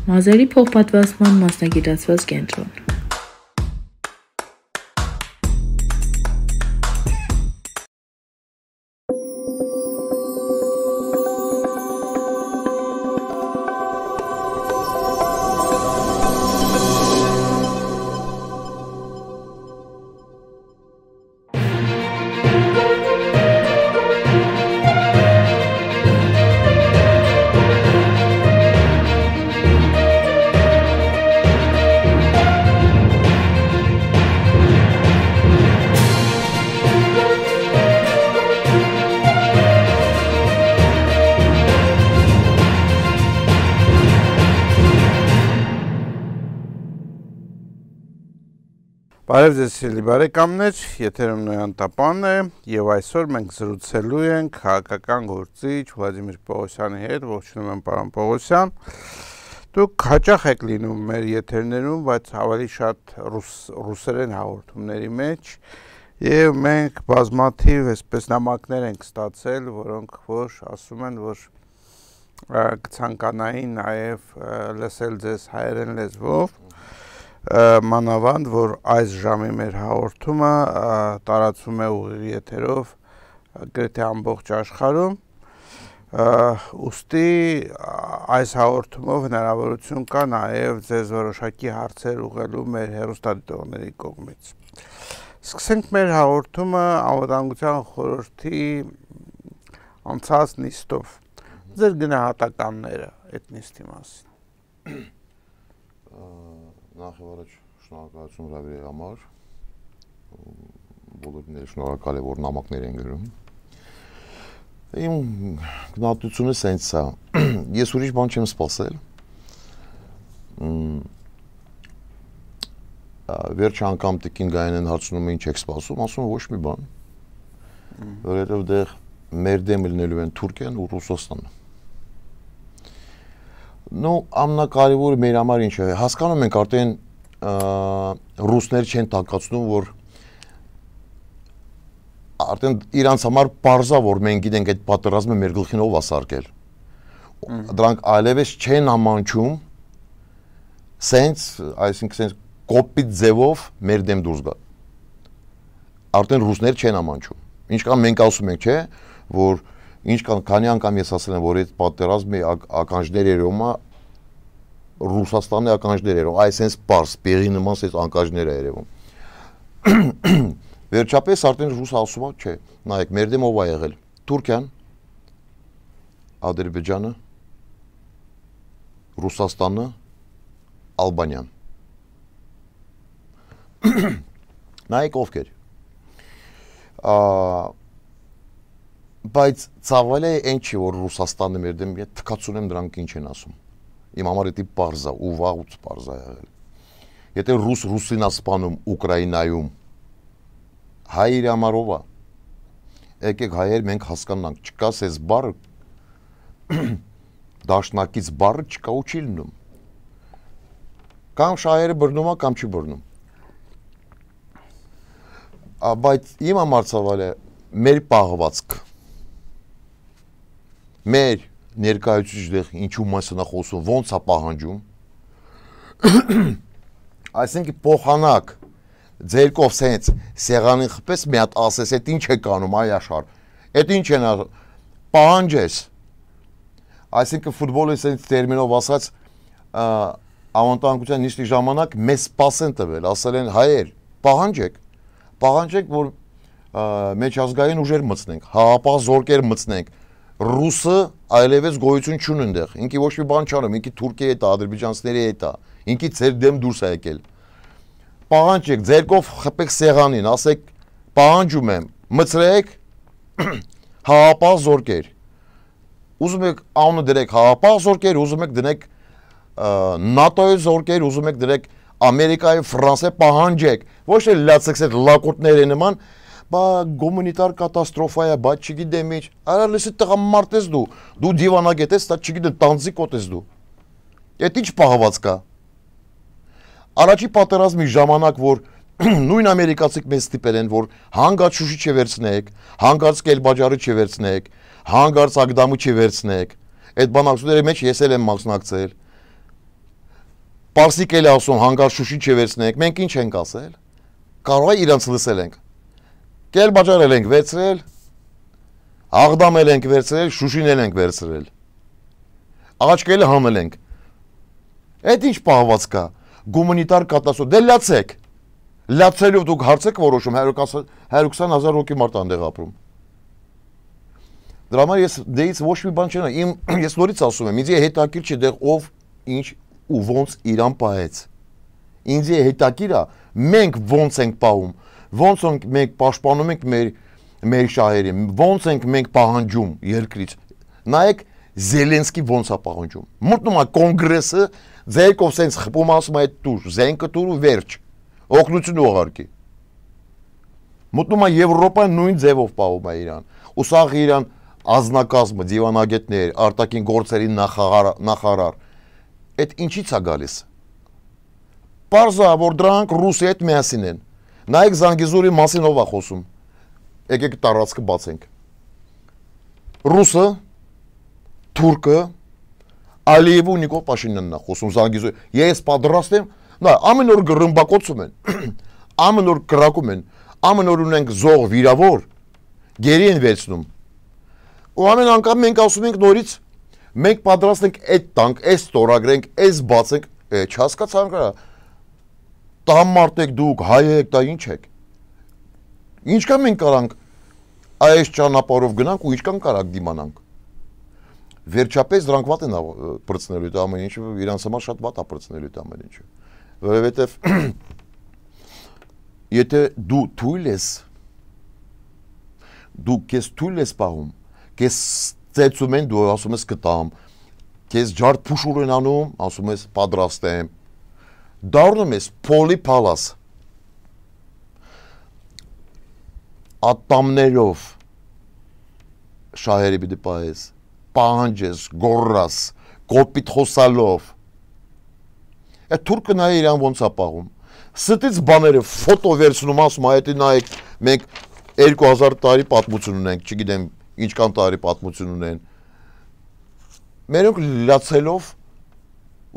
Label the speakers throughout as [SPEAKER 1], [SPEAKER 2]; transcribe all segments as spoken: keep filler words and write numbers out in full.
[SPEAKER 1] Մազերի փոխպատվաստման մասնագիտացված կենտրոն։
[SPEAKER 2] Բարև ձեզ սիրելի բարեկամներ, եթերում Նոյան Տապանն է եւ այսօր մենք զրուցելու ենք քաղաքական գործիչ Վլադիմիր Պողոսյանի հետ, ողջունում եմ պարոն Պողոսյան։ Դուք հաճախ եք լինում մեր եթերներում, բայց ավելի շատ ռուս, ռուսերեն հաղորդումների մեջ եւ մենք բազմաթիվ այսպես նամակներ ենք ստացել, որոնք որ ասում են, որ կցանկանային նաեւ լսել ձեզ հայերեն լեզվով մանավանդ, որ այս ժամի մեր հաղորդումը տարածվում է ուղիղ եթերով գրեթե ամբողջ աշխարհում, ուստի այս հաղորդումով հնարավորություն կա նաև ձեզ որոշակի հարցեր ուղղելու մեր հեռուստադիտողների կողմից։ Սկսենք մեր հաղորդումը Անվտանգության խորհրդի անցած նիստով։ Ձեր գնահատականները այդ նիստի մասին։
[SPEAKER 3] Նախ եւ առաջ շնորհակալություն Ռավիրի համար, բոլորին էլ շնորհակալ եմ, որ նամակներ են գրում։ Իմ գնահատությունը սենց է, ես ուրիշ բան չեմ սպասել։ Վերջ անգամ տիկին Գայանեն հարցնում է ինչ եք սպասում, ասում ոչ մի բան, որովհետև դեռ մեր դեմ լինելու են Թուրքիան ու Ռուսաստանը։ Ну, ամենակարևորը մեր համար ինչ է, հասկանում ենք արդեն ռուսներ չեն տակացնում, որ արդեն իրանց համար պարզա, որ մենք գիտենք այդ պատերազմը մեր գլխին ով ասարկել։ Դրանք այլևս չեն ամանչում, սենց, այսինքն սենց կոպիտ ձևով մեր դեմ դուրս գա։ Արդեն ռուսներ չեն ամանչում։ Ինչքան մենք ասում ենք, չէ, որ Ինչքան քանի անգամ ես ասել եմ, որ այդ պատերազմի ականջներ երևում է Ռուսաստանի ականջներ երևում, այսպես պարզ, պեղի նման այս ականջներ է երևում։ Վերջապես արդեն ռուս ասում է, չէ, նայեք, մեր դեմ ով է եղել։ Թուրքիան, Ադրբեջանը, Ռուսաստանը, Ալբանիան։ Նայեք ովքեր։ Բայց ցավալի է այն չի, որ Ռուսաստանը մեր դեմ է, թքացուն եմ դրանք ինչ են ասում։ Իմ համար դա պարզ է, ու վաղուց պարզ է եղել։ Եթե ռուս ռուսին է սպանում Ուկրաինայում, հայերի համար ով է։ Եկեք հայեր մենք հասկանանք, չկա սես բառը, դաշնակից բառը չկա ու չի լինում։ Կամ շահերը բռնում է, կամ չի բռնում։ Բայց իմ համար ցավալի է մեր պահվածք։ Մեր ներկայացուցիչ ինչու մասն է խոսում, ոնց է պահանջում։ Այսինքն փոխանակ ձերկով սենց սեղանին խփես մի հատ ասես, այդ ինչ է կանում, այ աշխարհ։ Այդ ինչ են պահանջես։ Այսինքն ֆուտբոլի սենց տերմինով ասած անվտանգության նիստի ժամանակ մեզ սպասեն տվել, ասել են հայեր, պահանջեք, պահանջեք, որ մեջազգային ուժեր մտցնենք, հապաղ զորքեր մտցնենք։ Ռուսը այլևս գոյություն չունի այնտեղ, ինքի ոչ մի բան չանում, ինքի Թուրքիայի հետ է, ադրբեջանցիների հետ է, ինքի ձեր դեմ դուրս է եկել։ Պահանջեք, ձերկով խփեք սեղանին, ասեք, պահանջում եմ, մցրեք հապաղ զորքեր։ Ուզում եք անունը դրեք հապաղ զորքեր, ուզում եք դնեք նատոյի զորքեր, ուզում եք դրեք Ամերիկայի, Ֆրանսիայի պահանջեք, ոչ թե լացեք այդ լակոտների նման, բա գումանիտար կատաստրոֆա է, բա չգիտեմ ինչ, արա լսի տղամարդ ես դու, դու դիվանագետ ես, դա չգիտեմ տանձիկոտ ես դու։ Այդ ինչ պահված կա։ Առաջի պատերազմի ժամանակ, որ նույն ամերիկացիք մեզ ստիպել են, որ հանգած Շուշի չվերցնեք, հանգած Կելբաջարը չվերցնեք, հանգած Ագդամը չվերցնեք, այդ բանակցությունների մեջ ես էլ եմ մասնակցել։ Պարսիկ էլ ասում հանկարծ Շուշի չվերցնենք, մենք ինչ ենք ասել։ Կարող է իրանց լսել ենք։ Կել բաժարել ենք վերցրել, Աղդամել ենք վերցրել, Շուշին էլ ենք վերցրել։ Աղաչկելը հանել ենք։ Այդ ինչ պահված կա։ Գումանիտար կատաստրոֆա։ Դե լացեք։ Լացելով դուք հարցեք որոշում one hundred twenty thousand հոգի մարդ անդեղ ապրում։ Դրա համար ես դեից ոչ մի բան չեմ, իմ ես նորից ասում եմ, ինձ է հետաքրքիր չէ դեղ ով ինչ ու ոնց իրան պահեց։ Ինձ է հետաքրքիր է մենք ոնց ենք պահում, ոնց ենք մենք պաշտպանում ենք մեր մեր շահերին, ոնց ենք մենք պահանջում երկրից։ Նայեք Զելենսկի ոնց է պահանջում։ Մտնում է կոնգրեսը, ձերքով սենց խփում ասում է դուր, զենքը դուր ու վերջ։ Օգնություն ուղարկի։ Մտնում է Եվրոպան նույն ձևով պահում է իրան։ Ու սա իրան ազնակազմը, դիվանագետներ, արտաքին գործերի նախարար, նախարար, այդ ինչից է գալիս։ Պարզա, որ դրանք Ռուսի հետ միասին են։ Նայեք Զանգեզուրի մասին ով է խոսում։ Եկեք տարածքը բացենք։ Ռուսը, թուրքը, Ալիևը ու Նիկոլ Փաշինյանն է խոսում Զանգեզուրի։ Ես պատրաստ եմ, նա ամեն օր գրմբակոծում են, ամեն օր կրակում են, ամեն օր ունենք զող վիրավոր, գերի են վերցնում։ Ու ամեն անգամ մենք ասում ենք նորից, մենք պատրաստ ենք այդ տանք, այս ստորագրենք, այս բացենք, չհասկացան կա։ Տամարտեք դուք, հայ եք, դա ինչ եք։ Ինչքան մենք կարանք այս ճանապարհով գնանք ու ինչքան կարանք դիմանանք։ Վերջապես դրանք վատ են պրծնելու դա ամեն ինչը, իրանց համար շատ վատ է պրծնելու դա ամեն ինչը։ Որովհետև եթե դու թույլ ես, դու քեզ թույլ ես պահում, քեզ ծեծում են, դու ասում ես կտամ, քեզ ջարդ փուշուր են անում, ասում ես պատրաստ եմ, դառնում ես փոլի փալաս, ատամներով շահերի պիտի պահես, պահանջես, գոռաս, կոպիտ խոսալով, այդ թուրքը նայ իրան ոնց է պահում, ստից բաները ֆոտո վերցնում ասում, այդ նայեք, մենք two thousand տարի պատմություն ունենք, չգիտեմ ինչքան տարի պատմություն ունեն։ Մերոնք լացելով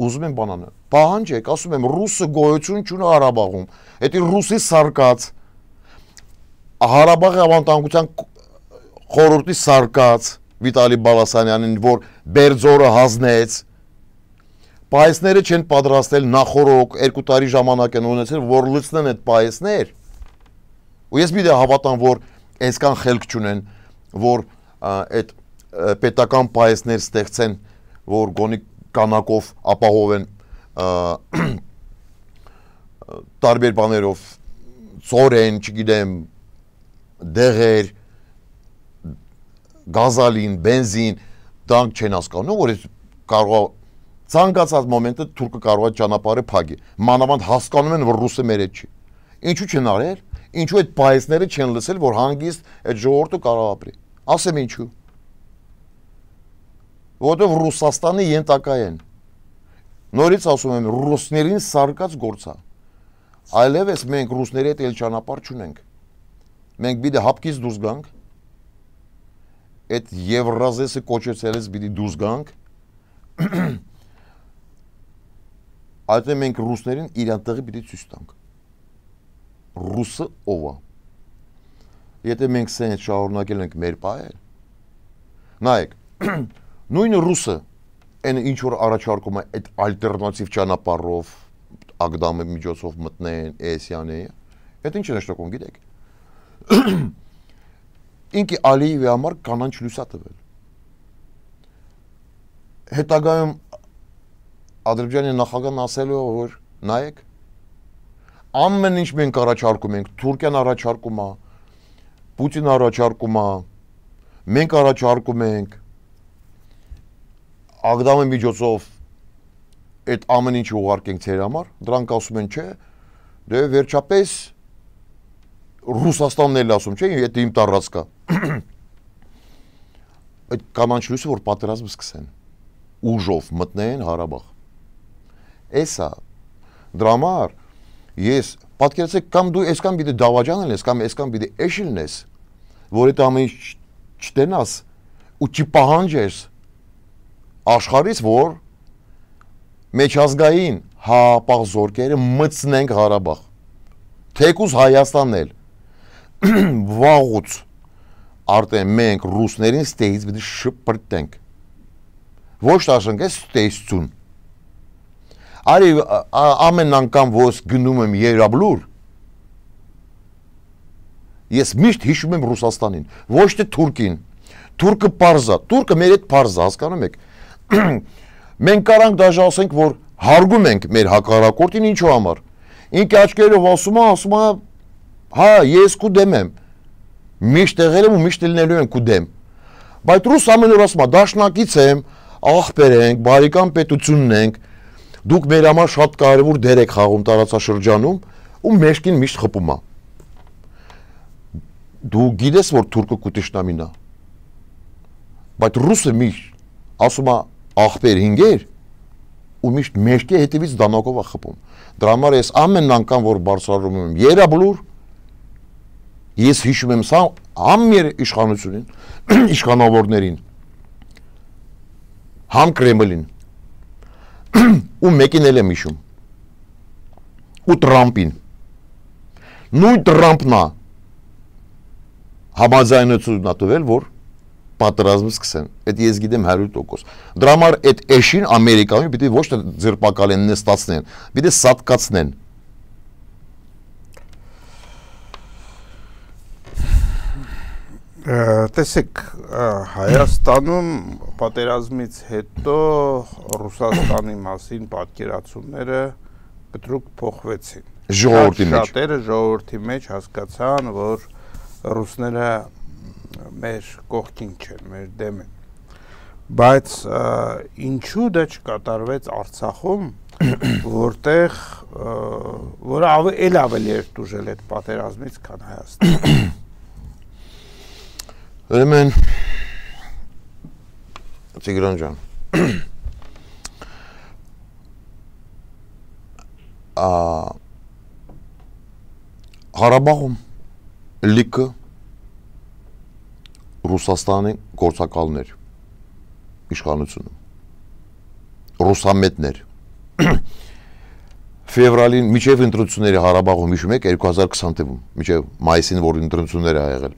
[SPEAKER 3] ուզում են բանանը։ Պահանջեք, ասում եմ, ռուսը գոյություն չունի Ղարաբաղում։ Դա ռուսի սարկած Ղարաբաղի ավանդանկության խորհրդի սարկած Վիտալի Բալասանյանին, որ Բերձորը հանձնեց։ Պայեսները չեն պատրաստել նախորոք երկու տարի ժամանակ են ունեցել, որ լցնեն այդ պայեսներ։ Ու ես մի դե հավատամ, որ այսքան խելք չունեն, որ այդ պետական պայեսներ ստեղծեն, որ գոնի կանակով ապահովեն տարբեր բաներով, ծորեն, չգիտեմ, դեղեր, գազալին, բենզին, դրանք չեն հասկանում, որ կարող ցանկացած մոմենտը թուրքը կարող է ճանապարհը փակի։ Մանավանդ հասկանում են, որ ռուսը մեր հետ չի։ Ինչու չեն արել։ Ինչու այդ պայեսները չեն լսել, որ հանգիստ այդ ժողովուրդը կարող ապրի։ Ասեմ ինչու։ Որովհետև Ռուսաստանի յենտակա են։ Նորից ասում եմ, ռուսներին սարկած գործ է։ Այլևս մենք ռուսների հետ էլ ճանապարհ չունենք։ Մենք պիտի հապկից դուրս գանք։ Այդ Եվրազեսը կոչեցելից պիտի դուրս գանք։ Այդ մենք ռուսներին իրան տեղի պիտի ցույց տանք։ Ռուսը ով է։ Եթե մենք սենց շարունակել ենք մեր պահել, նայեք, նույնը ռուսը, այն ինչ որ առաջարկում է այդ ալտերնատիվ ճանապարհով, ագդամի միջոցով մտնեն, էսյանը, այդ ինչ է նշանակում, գիտեք։ Ինքի Ալիևի համար կանանչ լույս է տվել։ Հետագայում Ադրբեջանի նախագահն ասելու է, որ նայեք, ամեն ինչ մենք առաջարկում ենք, Թուրքիան առաջարկում է, Պուտինը առաջարկում է, մենք առաջարկում ենք, ագդամի միջոցով այդ ամեն ինչը ուղարկենք ձեր համար, դրանք ասում են, չէ, դե վերջապես Ռուսաստանն էլ ասում, չէ, եթե իմ տարած կա։ Այդ կանանչ լույսը, որ պատերազմ սկսեն, ուժով մտնեն Ղարաբաղ։ Էսա, դրա համար ես պատկերացեք կամ դու այսքան պիտի դավաճան ես, կամ այսքան պիտի էշիլն ես, որ այդ ամեն ինչ չտենաս ու չպահանջես աշխարհից, որ մեջազգային հապաղ զորքերը մտցնենք Ղարաբաղ։ Թեկուզ Հայաստանն էլ վաղուց արդեն մենք ռուսներին ստեից պիտի շպրտենք։ Ոչ տաշենք է ստեյցություն։ Արի ամեն անգամ ոս գնում եմ Երաբլուր, ես միշտ հիշում եմ Ռուսաստանին, ոչ թե Թուրքին։ Թուրքը պարզա, Թուրքը մեր հետ պարզա, հասկանում եք։ Մենք կարանք դաժե ասենք, որ հարգում ենք մեր հակառակորդին ինչու համար։ Ինքը աչքերով ասում է, ասում է, հա, ես քու դեմ եմ։ Միշտ եղել եմ ու միշտ լինելու եմ քու դեմ։ Բայց ռուս ամեն օր ասում է, դաշնակից եմ, ախպեր ենք, բարեկամ պետությունն ենք, դուք մեր համար շատ կարևոր դեր եք խաղում տարածաշրջանում ու մեջքին միշտ խփում է։ Դու գիտես, որ թուրքը կուտիշնամին է։ Բայց ռուսը միշտ ասում է ախպեր հինգեր ու միշտ մեջքի հետևից դանակով է խփում։ Դրա համար ես ամեն անգամ որ բարձրանում եմ Երաբլուր, ես հիշում եմ սա ամեր իշխանությունին, իշխանավորներին, համ Կրեմլին, ու մեկին էլ եմ հիշում, ու Տրամպին։ Նույն Տրամպն է համաձայնություն տվել, որ պատերազմը սկսեն։ Այդ ես գիտեմ հարյուր տոկոս։ Դրա համար այդ էշին Ամերիկայում պիտի ոչ թե ձերբակալեն, նստացնեն, պիտի սատկացնեն։
[SPEAKER 2] Տեսեք, Հայաստանում պատերազմից հետո Ռուսաստանի մասին պատկերացումները կտրուկ փոխվեցին։
[SPEAKER 3] Ժողովրդի մեջ։
[SPEAKER 2] Շատերը ժողովրդի մեջ հասկացան, որ ռուսները մեր կողքին չեն, մեր դեմ են։ Բայց ինչու դա չկատարվեց Արցախում, որտեղ որը էլ ավելի էր դուժել այդ պատերազմից, քան Հայաստանը։
[SPEAKER 3] Ուրեմն Տիգրան ջան, Ղարաբաղում լիքը Ռուսաստանի գործակալներ իշխանությունում, ռուսամետներ, ֆևրալին միջև ընտրությունների Ղարաբաղում հիշում եք երկու հազար քսան թվականին, միջև մայիսին, որ ընտրությունները ա եղել։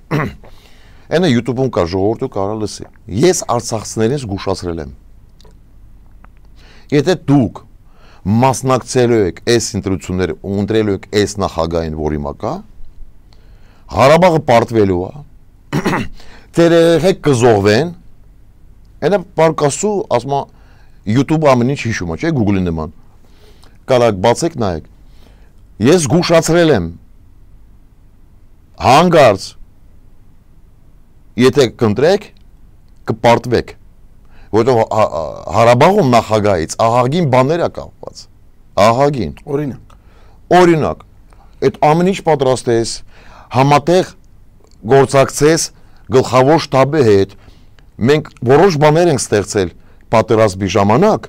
[SPEAKER 3] Այնա YouTube-ում կա, ժողովուրդը կարա լսի։ Ես արցախցիներին զգուշացրել եմ։ Եթե դուք մասնակցելու եք այս ընտրությունները ու ընտրելու եք այս նախագահին, որի մակա, Ղարաբաղը պարտվելու է, ձեր երեխեք կզոհվեն, այնա պարկասու, ասում է, YouTube-ը ամեն ինչ հիշում է, չէ, Google-ի նման։ Կարակ բացեք նայեք։ Ես զգուշացրել եմ, հանգարց, եթե կընտրեք, կպարտվեք, որտեղ Ղարաբաղում նախագահից ահագին բաներ է կապված, ահագին։
[SPEAKER 2] Օրինակ։
[SPEAKER 3] Օրինակ, այդ ամեն ինչ պատրաստ ես, համատեղ գործակցես գլխավոր շտաբի հետ, մենք որոշ բաներ ենք ստեղծել պատերազմի ժամանակ,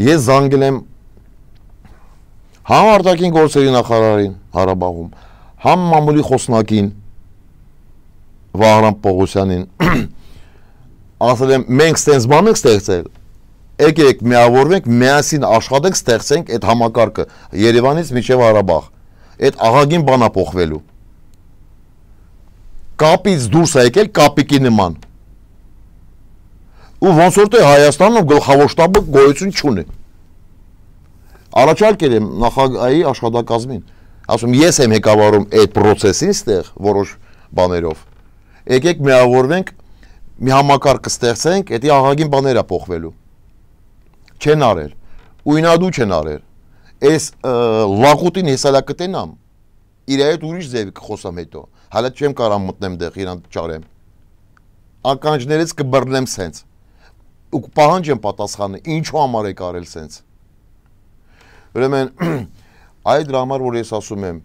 [SPEAKER 3] ես զանգել եմ համ արտաքին գործերի նախարարին Ղարաբաղում, համ մամուլի խոսնակին Վահրամ Պողոսյանին, ասել եմ, մենք ստենց բան ենք ստեղծել, եկեք միավորվենք, միասին աշխատենք, ստեղծենք այդ համակարգը Երևանից մինչև Ղարաբաղ, այդ ահագին բան է փոխվելու։ Կապից դուրս է եկել կապիկի նման։ Ու ոնց որ թե Հայաստանում գլխավոր շտաբը գոյություն չունի։ Առաջարկել եմ նախագահի աշխատակազմին, ասում ես եմ ղեկավարում այդ process-ին ստեղ որոշ բաներով։ Եկեք միավորվենք, մի համակարգ կստեղծենք, դա ահագին բաներ է փոխվելու։ Չեն արել, ու ինադու չեն արել։ Այս լակուտին հեսալա կտենամ, իր հետ ուրիշ ձև կխոսամ հետո, հալա չեմ կարամ մտնեմ դեղ իրան ճարեմ։ Ականջներից կբռնեմ սենց, ու կպահանջեմ պատասխանը, ինչու համար եք արել սենց։ Ուրեմն, այդ դրա համար, որ ես ասում եմ,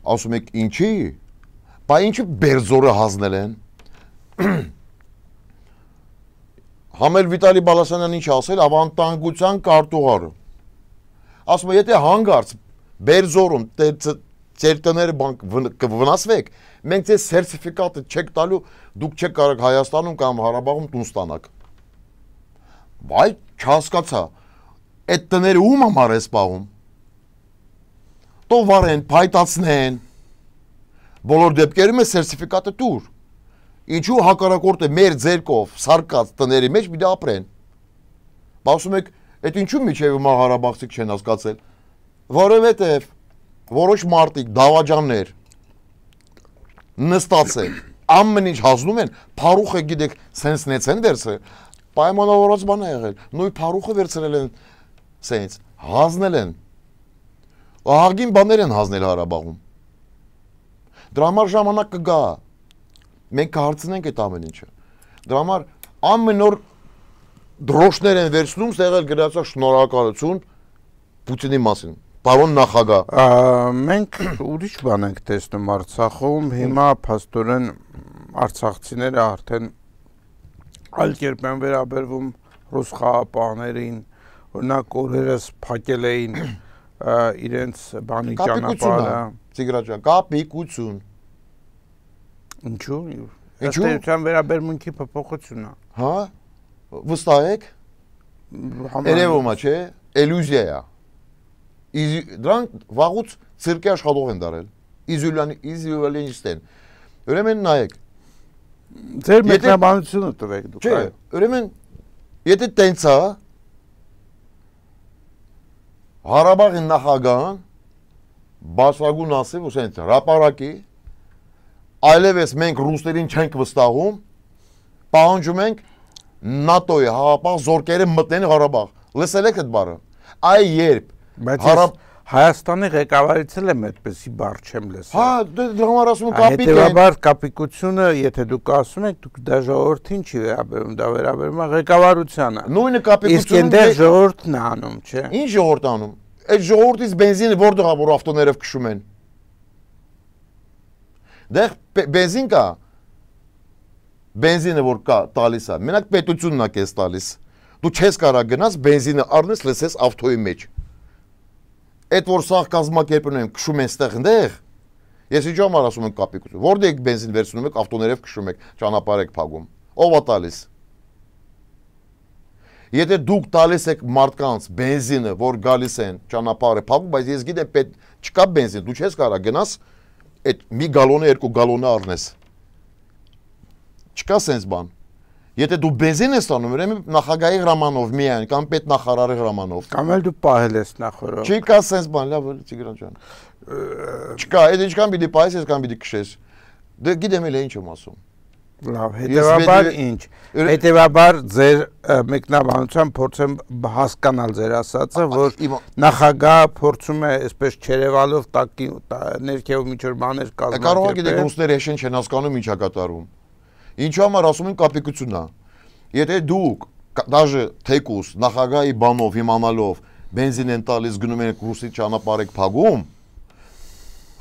[SPEAKER 3] ասում եք ինչի, բա ինչի Բերձորը հանձնել են։ Համել Վիտալի Բալասանյան ինչ ասել, ավանդանկության կարտուղարը։ Ասում է, եթե հանգարց Բերձորում ձեր տները կվնասվեք, մենք ձեզ սերտիֆիկատը չեք տալու, դուք չեք կարող Հայաստանում կամ Ղարաբաղում տուն ստանաք։ Բայց չհասկացա, Այդ տները ում համար է սպաղում։ Տո վարեն, փայտացնեն։ Բոլոր դեպքերում է սերտիֆիկատը տուր։ Ինչու հակառակորդը մեր ձերքով սարկած տների մեջ պիտի ապրեն։ Ասում եք, այդ ինչու միջև հիմա Ղարաբաղցիք չեն հասկացել։ Որովհետև որոշ մարդիկ դավաճաններ նստացել, ամեն ինչ հասնում են, փարուխը գիտեք, սենց նեցեն դերսը, պայմանավորված բան է եղել, նույն փարուխը վերցրել են սենց, հազնել են, ահագին բաներ են հազնել Հարաբաղում, դրա համար ժամանակ կգա, մենք կհարցնենք այդ ամեն ինչը, դրա համար ամեն օր դրոշներ են վերցնում, ստեղել գրածա շնորհակալություն Պուտինի մասին, պարոն նախագահ։
[SPEAKER 2] Մենք ուրիշ բան ենք տեսնում Արցախում, հիմա փաստորեն արցախցիները արդեն այլ կերպ են վերաբերվում ռուս խաղապահներին, օրինակ օրերս փակել էին իրենց բանի ճանապարհը։
[SPEAKER 3] Տիգրաջան, կապիկություն։
[SPEAKER 2] Ինչու՞։ Ըստ էության վերաբերմունքի փոփոխություն է։
[SPEAKER 3] Հա։ Վստահ եք։ Երևում է, չէ՞, իլյուզիա է։ Դրանք վաղուց ցիրկի աշխատող են դարել։ Իզոլյանիստ են։ Ուրեմն նայեք։
[SPEAKER 2] Ձեր մեկնաբանությունը տվեք դուք։
[SPEAKER 3] Չէ, ուրեմն եթե տենց է Ղարաբաղի նախագահան բացրագուն ասել, ու սենց հրապարակի այլևս մենք ռուսներին չենք վստահում, պահանջում ենք նատոյի հավապահ զորքերը մտնեն Ղարաբաղ։ Լսել եք այդ բառը։ Այ երբ
[SPEAKER 2] Բայց Հայաստանի ղեկավարից էլ եմ այդպեսի բառ չեմ լսել։
[SPEAKER 3] Հա, դրա համար ասում եմ կապիկ է։
[SPEAKER 2] Հետևաբար կապիկությունը, եթե դուք ասում եք, դուք դա ժողովրդին չի վերաբերում, դա վերաբերում է ղեկավարությանը։
[SPEAKER 3] Նույնը կապիկությունը։
[SPEAKER 2] Իսկ այնտեղ ժողովուրդն է անում, չէ՞։
[SPEAKER 3] Ինչ ժողովուրդ անում։ Այդ ժողովրդից բենզինը որտեղ է, որ ավտոներով քշում են։ Դեռ բենզին կա։ Բենզինը որ կա տալիս է, մենակ պետությունն է քեզ տալիս։ Դու չես կարող գնաս բենզինը առնես, լսես ավտոյի մեջ։ Այդ որ սաղ կազմակերպում են քշում են ստեղ ընդեղ, ես ինչ համար ասում եմ կապիկություն, որտեղ եք բենզին վերցնում եք, ավտոներով քշում եք, ճանապարհ եք փակում, ով է տալիս։ Եթե դուք տալիս եք մարդկանց բենզինը, որ գալիս են ճանապարհը փակում, բայց ես գիտեմ պետք չկա բենզին, դու չես կարող գնաս այդ մի գալոնը, երկու գալոնը առնես։ Չկա սենց բան։ Եթե դու բենզին ես տանում, ուրեմն նախագահի հրամանով միայն կամ պետնախարարի հրամանով։
[SPEAKER 2] Կամ էլ դու պահել ես նախորդ։
[SPEAKER 3] Չի կա սենց բան, լավ, Տիգրան ջան։ Չկա, այդ ինչքան պիտի պահես, այսքան պիտի քշես։ Դե գիտեմ էլ ինչ եմ ասում։
[SPEAKER 2] Լավ, հետևաբար ինչ։ Հետևաբար ձեր մեկնաբանությամբ փորձեմ հասկանալ ձեր ասածը, որ նախագահը փորձում է այսպես չերևալով տակի ներքևով ինչ որ բաներ կազմակերպել։
[SPEAKER 3] Կարող է գիտեք ռուսները հեշտ չեն հասկանում ինչա կատարում։ Ինչու համար ասում են կապիկությունն է։ Եթե դուք դաժե թեկուս նախագահի բանով իմանալով բենզին են տալիս գնում եք ռուսի ճանապարհ եք փակում,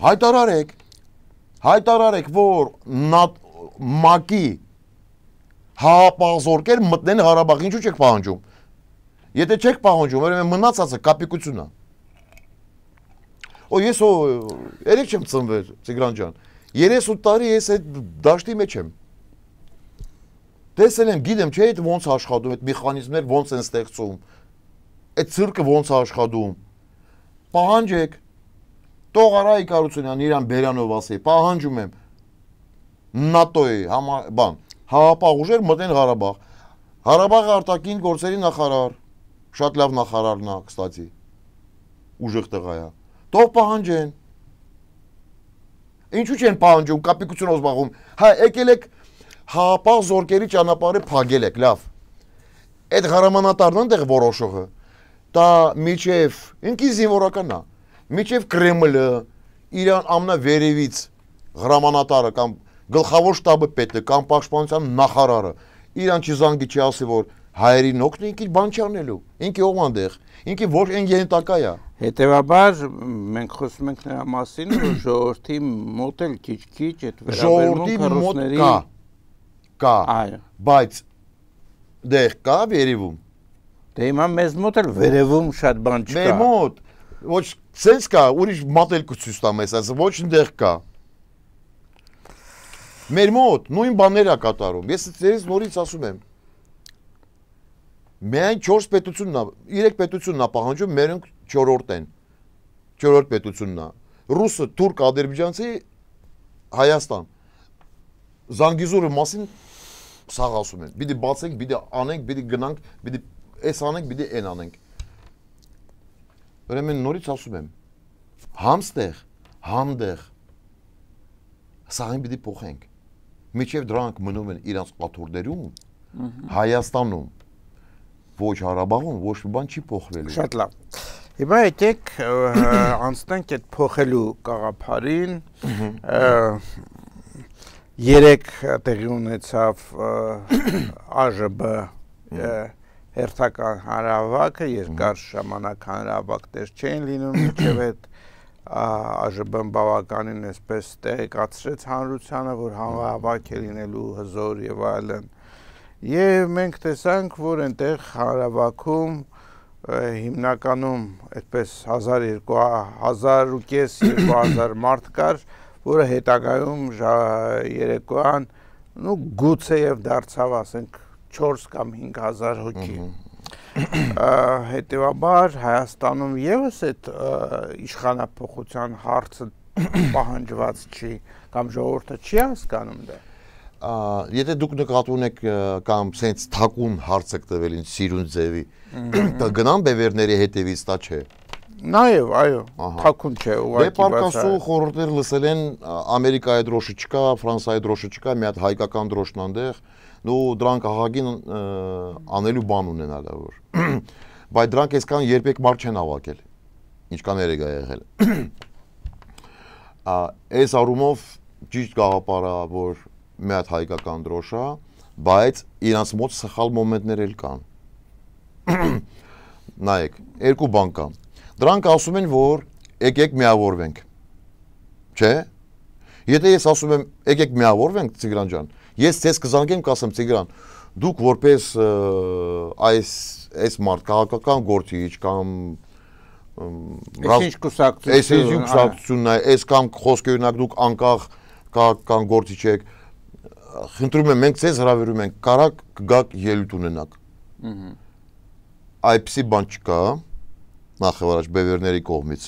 [SPEAKER 3] հայտարարեք, հայտարարեք, որ ՄԱԿ-ի հավապահ զորքեր մտնեն Ղարաբաղ, ինչու չեք պահանջում։ Եթե չեք պահանջում, ուրեմն մնացածը կապիկությունն է։ Օ ես օ երեք չեմ ծնվել, Տիգրան ջան։ երեսուն տարի ես այդ դաշտի մեջ եմ։ Տեսել եմ, գիտեմ, չէ՞ այդ ոնց աշխատում, այդ մեխանիզմներ ոնց են ստեղծում, այդ ցիրկը ոնց է աշխատում։ Պահանջեք, տող Արայիկ Արությունյան իրան Բերանով ասի, պահանջում եմ նատոյի բան, հավապահ ուժեր մտնեն Ղարաբաղ։ Ղարաբաղի արտաքին գործերի նախարար, շատ լավ նախարարն է, կստացի, ուժեղ տղա է։ Թող պահանջեն։ Ինչու չեն պահանջում, կապիկությունով զբաղվում։ Հա, եկել եք հավապահ զորքերի ճանապարհը փակել եք, լավ։ Այդ հրամանատարն այնտեղ որոշողը, դա միջև ինքի զինվորականն է, միջև Կրեմլը, իրան ամենավերևից հրամանատարը կամ գլխավոր շտաբը պետը կամ պաշտպանության նախարարը, իրան չզանգի չի ասի, որ հայերին օգնի, ինքի բան չի անելու, ինքի ով այնտեղ, ինքի ոչ այն ենթակա է։
[SPEAKER 2] Հետևաբար մենք խոսում ենք նրա մասին, որ ժողովրդի մոտ էլ քիչ-քիչ այդ վերաբերմունքը ռուսների
[SPEAKER 3] կա, բայց դեղ կա վերևում։
[SPEAKER 2] Դե հիմա մեզ մոտ էլ վերևում շատ բան չկա։
[SPEAKER 3] Մեր մոտ ոչ սենց կա, ուրիշ մատելք ցույց տամ ես, ասես ոչ այնտեղ կա։ Մեր մոտ նույն բաներ է կատարում։ Ես ձեզ նորից ասում եմ։ Միայն չորս պետությունն է, երեք պետությունն է պահանջում, մերոնք չորրորդ են։ Չորրորդ պետությունն է։ Ռուսը, թուրք, ադրբեջանցի, Հայաստան։ Զանգիզուրի մասին սաղ ասում են։ Պիտի բացենք, պիտի անենք, պիտի գնանք, պիտի էս անենք, պիտի այն անենք։ Ուրեմն նորից ասում եմ, համստեղ, համդեղ սաղին պիտի փոխենք։ Միջև դրանք մնում են իրանց աթոռներում, Հայաստանում, ոչ Ղարաբաղում, ոչ մի բան չի փոխվելու։
[SPEAKER 2] Շատ լավ։ Հիմա եկեք անցնենք այդ փոխելու գաղափարին։ Երեք տեղի ունեցավ ԱԺԲ հերթական հանրահավաքը, երկար ժամանակ հանրահավաքներ չէին լինում, մինչև այդ ԱԺԲ-ն բավականին այսպես տեղեկացրեց հանրությանը, որ հանրահավաք է լինելու հզոր եւ այլն։ Եվ մենք տեսանք, որ այնտեղ հանրահավաքում հիմնականում այդպես հազար երկու հազար մարդ կար, որը հետագայում երեկոյան նու գուցեև դարձավ, ասենք, չորս կամ հինգ հազար հոգի։ Հետևաբար Հայաստանում եւս այդ իշխանափոխության հարցը պահանջված չի կամ ժողովուրդը չի հասկանում դա։
[SPEAKER 3] Եթե դուք նկատի ունեք կամ սենց թակուն հարց եք տվել ինձ սիրուն ձևի, գնան բևերների հետևից, դա չէ։
[SPEAKER 2] Նաեւ, այո, թակուն չէ, ուղղակի
[SPEAKER 3] բաց։ Դե պարկասու խորհուրդներ լսել են Ամերիկայի դրոշը չկա, Ֆրանսիայի դրոշը չկա, մի հատ հայկական դրոշն այնտեղ, նու դրանք ահագին անելու բան ունենալ է որ։ Բայց դրանք այսքան երբեք մարդ չեն հավաքել, ինչքան երեք է եղել։ Այս առումով ճիշտ գաղափար է, որ մի հատ հայկական դրոշ է, բայց իրանց մոտ սխալ մոմենտներ էլ կան։ Նայեք, երկու բան կա։ Դրանք ասում են, որ եկեք միավորվենք։ Չէ՞։ Եթե ես ասում եմ, եկեք միավորվենք, Տիգրան ջան, ես ցես կզանգեմ, կասեմ Տիգրան, դուք որպես այս այս մարդ քաղաքական գործիչ կամ
[SPEAKER 2] Ինչ կուսակցություն,
[SPEAKER 3] այս կուսակցությունն է, այս կամ խոսքը օրինակ դուք անկախ քաղաքական գործիչ եք, խնդրում եմ, մենք ցես հրավիրում ենք, կարակ կգաք ելույթ ունենաք։ Այդպիսի բան չկա, նախավարաճ բևերների կողմից։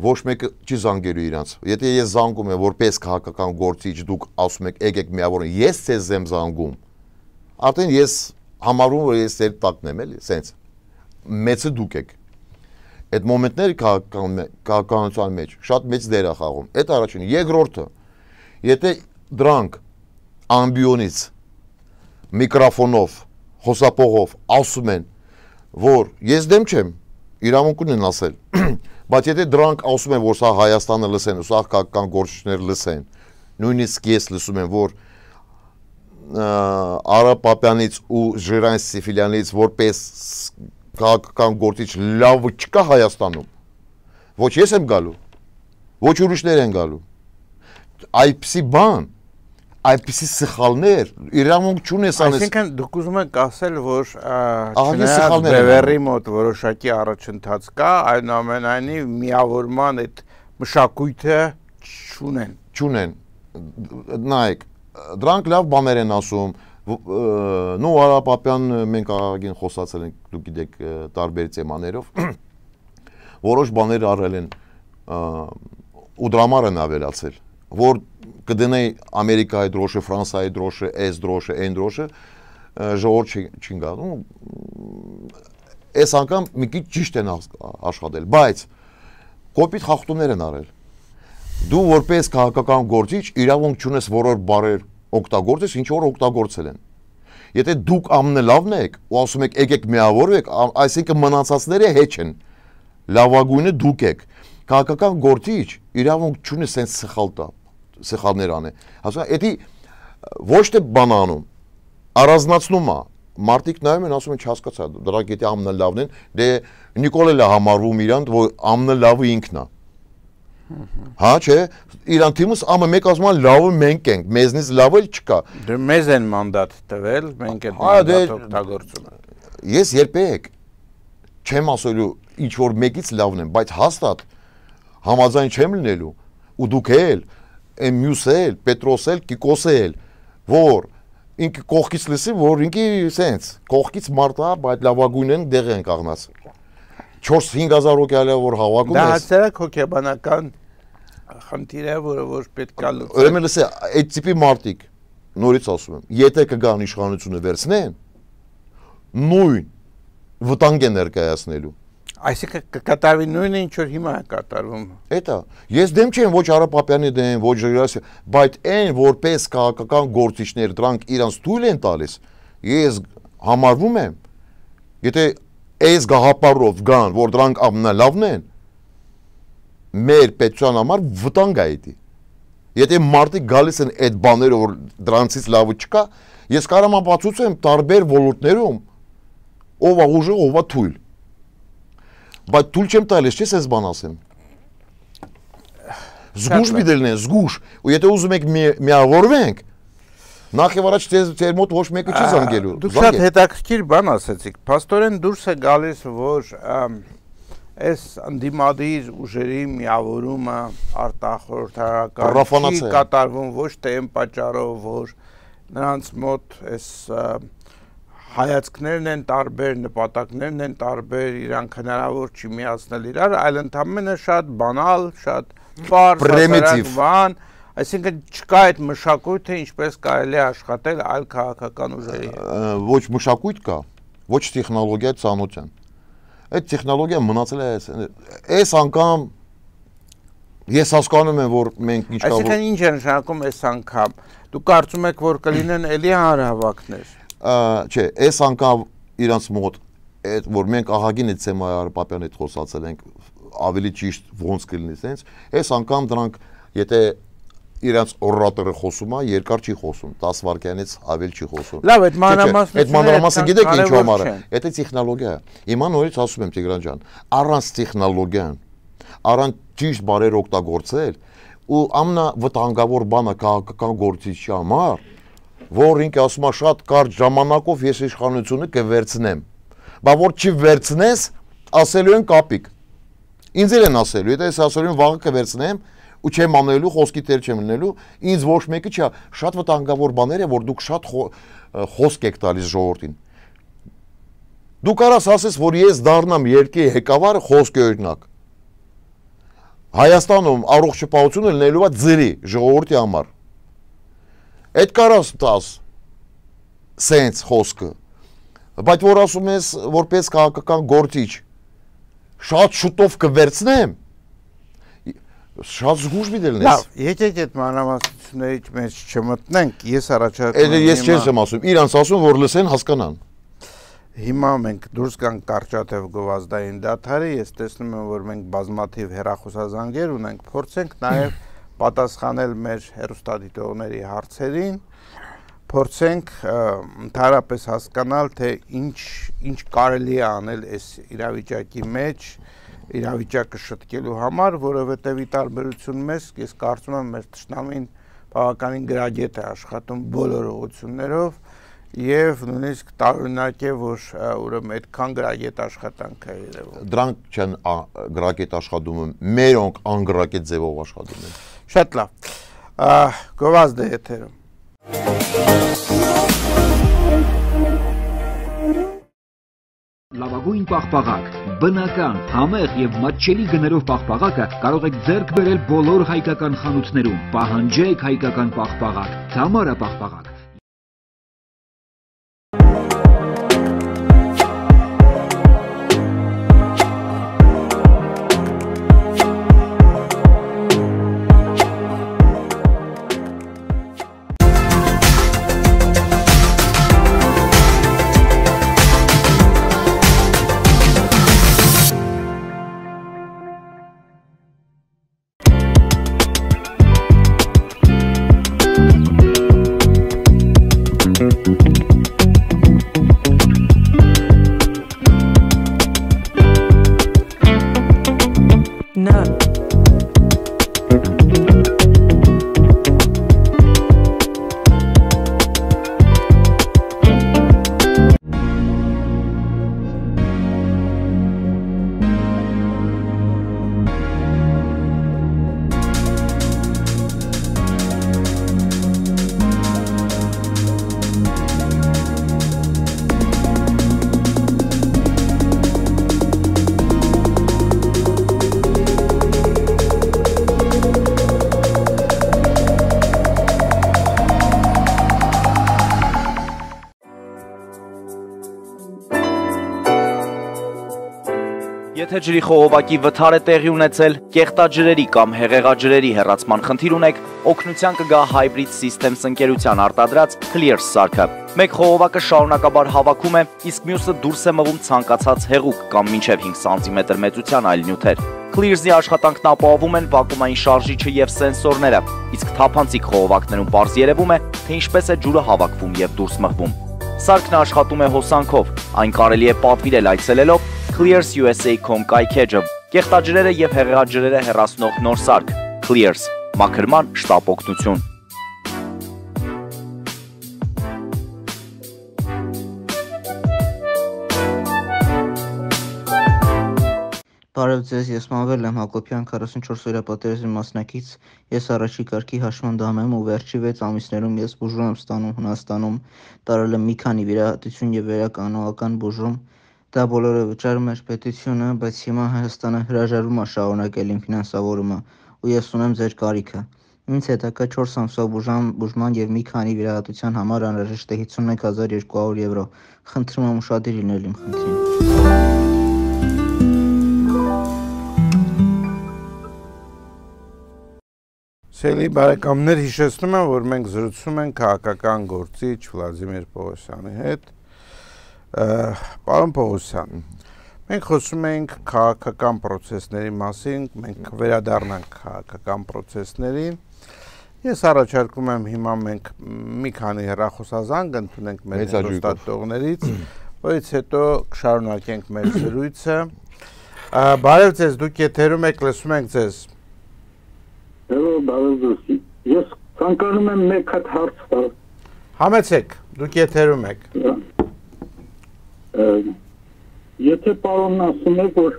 [SPEAKER 3] Ոչ մեկը չի զանգելու իրանց։ Եթե ես զանգում եմ որպես քաղաքական գործիչ, դուք ասում եք եկեք միավորվենք, ես ցեզ եմ զանգում։ Արդեն ես համարում որ ես ձեր տակն եմ, էլի, սենց։ Մեծը դուք եք։ Այդ մոմենտները քաղաքականության մեջ շատ մեծ դեր է խաղում։ Այդ առաջինը, երկրորդը, եթե դրանք ամբիոնից միկրոֆոնով, խոսափողով ասում են, որ ես դեմ չեմ, իրավունք ունեն ասել, բայց եթե դրանք ասում են, որ սա Հայաստանը լսեն, սա քաղաքական գործիչներ լսեն, նույնիսկ ես լսում եմ, որ Արա Պապյանից ու Ժիրան Սիֆիլյանից որպես քաղաքական գործիչ լավ չկա Հայաստանում, ոչ ես եմ գալու, ոչ ուրիշներ են գալու, այդպիսի բան, այդպիսի սխալներ, իրավունք չունես անես։
[SPEAKER 2] Այսինքն դուք ուզում եք ասել, որ չնայած բևեռի մոտ որոշակի առաջընթաց կա, այնուամենայնիվ միավորման այդ մշակույթը չունեն։
[SPEAKER 3] Չունեն։ Նայեք, դրանք լավ բաներ են ասում, նու Արա Պապյան մենք աղագին խոսացել ենք, դուք գիտեք տարբեր թեմաներով, որոշ բաներ արել են ու դրամար են ավելացել, որ կդնեի Ամերիկայի դրոշը, Ֆրանսիայի դրոշը, այս դրոշը, այն դրոշը, ժողովուրդ չին գալու։ Այս անգամ մի քիչ ճիշտ են աշխատել, բայց կոպիտ խախտումներ են արել։ Դու որպես քաղաքական գործիչ իրավունք չունես որոշ բառեր օգտագործես, ինչ որ օգտագործել են։ Եթե դուք ամենալավն եք ու ասում եք եկեք միավորվեք, այսինքն մնացածները հեչ են։ Լավագույնը դուք եք։ Քաղաքական գործիչ իրավունք չունի սենց սխալ տա, սխալներ անի։ Հասա, էդի ոչ թե բան անում, առանձնացնում է։ Մարդիկ նայում են, ասում են չհասկացա, դրանք եթե ամենալավն են, դե Նիկոլել է համարվում իրան, որ ամենալավը ինքն է։ Հա, չէ, իրան թիմս ամը մեկ ասում են լավը մենք ենք, մեզնից լավը չկա։
[SPEAKER 2] Դե մեզ են մանդատ տվել, մենք այդ մանդատը օգտագործում ենք։
[SPEAKER 3] Ես երբեք չեմ ասելու ինչ որ մեկից լավն եմ, բայց հաստատ համաձայն չեմ լինելու ու դուք էլ, այն մյուսը էլ, Պետրոսը էլ, Կիկոսը էլ, որ ինքը կողքից լսի, որ ինքը սենց, կողքից մարդա, բայց լավագույնն դեղ են կաղնած։ չորս-հինգ հազար հոգի որ հավաքում
[SPEAKER 2] Դա
[SPEAKER 3] ես։
[SPEAKER 2] հասարակ հոգեբանական խնդիր է, որը որ պետք է լուծել։
[SPEAKER 3] Ուրեմն լսի, այդ տիպի մարդիկ, նորից ասում եմ, եթե կգան իշխանությունը վերցնեն, նույն վտանգ է ներկայացնելու։
[SPEAKER 2] Այսինքն կկատարվի նույնը, ինչ որ հիմա է կատարվում։
[SPEAKER 3] Էտա, ես դեմ չեմ ոչ Արա Պապյանի դեմ, ոչ Ժիրասի, բայց այն որպես քաղաքական գործիչներ դրանք իրանց թույլ են տալիս, ես համարվում եմ, եթե այս գաղափարով գան, որ դրանք ամենալավն են, մեր պետության համար վտանգ է դա։ Եթե մարդիկ գալիս են այդ բաները, որ դրանցից լավը չկա, ես կարող եմ բացուցեմ տարբեր ոլորտներում ով է ուժը, ով է թույլ։ Բայց թույլ չեմ տալիս, չես ես բան ասեմ։ Զգուշ մի դելնեն, զգուշ։ Ու եթե ուզում եք միավորվենք, նախ եւ առաջ ձեր մոտ ոչ մեկը չի զանգելու։
[SPEAKER 2] Դուք շատ հետաքրքիր բան ասացիք։ Փաստորեն դուրս է գալիս, որ այս անդիմադիր ուժերի միավորումը արտախորհրդարական չի կատարվում ոչ թե այն պատճառով, որ նրանց մոտ այս հայացքներն են տարբեր, նպատակներն են տարբեր, իրանք հնարավոր չի միացնել իրար, այլ ընդամենը շատ բանալ, շատ պարզ, հասարակ բան, այսինքն չկա այդ մշակույթը, ինչպես կարելի է աշխատել այլ քաղաքական ուժերի հետ։
[SPEAKER 3] Ոչ մշակույթ կա, ոչ տեխնոլոգիա ծանոթ են։ Այդ տեխնոլոգիան մնացել է այս անգամ ես հասկանում եմ, որ մենք ինչ կա։
[SPEAKER 2] Այսինքն ինչ է նշանակում այս անգամ։ Դուք կարծում եք, որ կլինեն էլի հանրահավաքներ։
[SPEAKER 3] Չէ, այս անգամ իրանց մոտ այդ որ մենք ահագին այդ Սեմայ Արապապյանի հետ խոսացել ենք, ավելի ճիշտ ոնց կլինի sense, այս անգամ դրանք եթե իրանց օրատորը խոսում է, երկար չի խոսում, դես վայրկյանից ավել չի խոսում։
[SPEAKER 2] Լավ, այդ մանրամասն
[SPEAKER 3] այդ մանրամասը գիտեք ինչ համար է։ Դա տեխնոլոգիա է։ Հիմա նորից ասում եմ Տիգրան ջան, առանց տեխնոլոգիան, առանց ճիշտ բարեր օգտագործել ու ամենավտանգավոր բանը քաղաքական գործիչի համար, որ ինքը ասում է շատ կարճ ժամանակով ես իշխանությունը կվերցնեմ։ Բա որ չի վերցնես, ասելու են կապիկ։ Ինձ էլ են ասելու, եթե ես ասելու եմ վաղը կվերցնեմ, ու չեմ անելու, խոսքի տեր չեմ լինելու, ինձ ոչ մեկը չի, շատ վտանգավոր բաներ է, որ դուք շատ խոսք եք տալիս ժողովրդին։ Դուք կարաս ասես, որ ես դառնամ երկրի ղեկավարը, խոսքի օրինակ։ Հայաստանում առողջապահությունը լինելու է ձրի ժողովրդի համար։ Այդ կարաս տաս սենց խոսքը, բայց որ ասում ես, որպես քաղաքական գործիչ, շատ շուտով կվերցնեմ, շատ զգուշ մի դելնես։
[SPEAKER 2] Լավ, եկեք այդ մանրամասնությունների մեջ չմտնենք, ես առաջարկում
[SPEAKER 3] եմ։ Ես չեմ ասում, իրանց ասում, որ լսեն, հասկանան։
[SPEAKER 2] Հիմա մենք դուրս գանք կարճատև գովազդային դադարի, ես տեսնում եմ, որ մենք բազմաթիվ հեռախոսազանգեր ունենք, փորձենք նաև պատասխանել մեր հեռուստադիտողների հարցերին, փորձենք ընդհանրապես հասկանալ, թե ինչ ինչ կարելի է անել այս իրավիճակի մեջ, իրավիճակը շտկելու համար, որովհետև ի տարբերություն մեզ, ես կարծում եմ մեր թշնամին բավականին գրագետ է աշխատում բոլոր ուղղություններով եւ նույնիսկ տարօրինակ է, որ ուրեմն այդքան գրագետ աշխատանք է երևում։
[SPEAKER 3] Դրանք չեն գրագետ աշխատում, մերոնք անգրագետ ձևով աշխատում են։
[SPEAKER 2] Շատ լավ։ Գովազդը եթերում։
[SPEAKER 4] Լավագույն պաղպաղակ, բնական, համեղ եւ մատչելի գներով պաղպաղակը կարող եք ձեռք բերել բոլոր հայկական խանութներում։ Պահանջեք հայկական պաղպաղակ, Թամարա պաղպաղակ։
[SPEAKER 5] Եթե ջրի խողովակի վթար է տեղի ունեցել, կեղտաջրերի կամ հեղեղաջրերի հեռացման խնդիր ունեք, օգնության կգա Hybrid Systems ընկերության արտադրած Clears սարքը։ Մեկ խողովակը շարունակաբար հավաքում է, իսկ մյուսը դուրս է մղում ցանկացած հեղուկ կամ մինչև հինգ սանտիմետր մեծության այլ նյութեր։ Clears-ի աշխատանքն ապահովում են վակուումային շարժիչը եւ սենսորները, իսկ թափանցիկ խողովակներում պարզ երևում է, թե ինչպես է ջուրը հավաքվում եւ դուրս մղվում։ Սարքն աշխատում է հոսանքով, այն կարելի է պատվիրել այցելելով Clears U S A dot com կայքեջը, կեղտաջրերը եւ հեղեղաջրերը հեռացնող նոր սարք Clears, մաքրման շտապ օգնություն։
[SPEAKER 6] Բարև ձեզ, ես Մանվել եմ Հակոբյան, քառասունչորս օրյա պատերազմի մասնակից, ես առաջի կարգի հաշմանդամ եմ ու վերջի վեց ամիսներում ես բուժում եմ ստանում Հունաստանում, տարել եմ մի քանի վիրահատություն եւ վերականողական բուժում, դա բոլորը վճարում էր պետությունը, բայց հիմա Հայաստանը հրաժարվում է շարունակել իմ ֆինանսավորումը ու ես ունեմ ձեր կարիքը։ Ինձ հետաքրքրում է չորս ամսվա բուժման, բուժման եւ մի քանի վիրահատության համար անհրաժեշտ է հիսունմեկ հազար երկու հարյուր եվրո։ Խնդրում եմ ուշադիր լինել իմ խնդրին։
[SPEAKER 2] Սիրելի բարեկամներ, հիշեցնում եմ, որ մենք զրուցում ենք քաղաքական գործիչ Վլադիմիր Պողոսյանի հետ։ Պարոն Պողոսյան, մենք խոսում ենք քաղաքական process-ների մասին, մենք վերադառնանք քաղաքական process-ներին։ Ես առաջարկում եմ հիմա մենք մի քանի հեռախոսազանգ ընդունենք մեր հեռուստատողներից, որից հետո կշարունակենք մեր զրույցը։ Բարև ձեզ, դուք եթերում եք, լսում ենք ձեզ։
[SPEAKER 7] Hello, բարև, ես ցանկանում եմ մեկ հատ հարց տալ։
[SPEAKER 2] Համեցեք, դուք եթերում եք։
[SPEAKER 7] Եթե պարոնն ասում եք, որ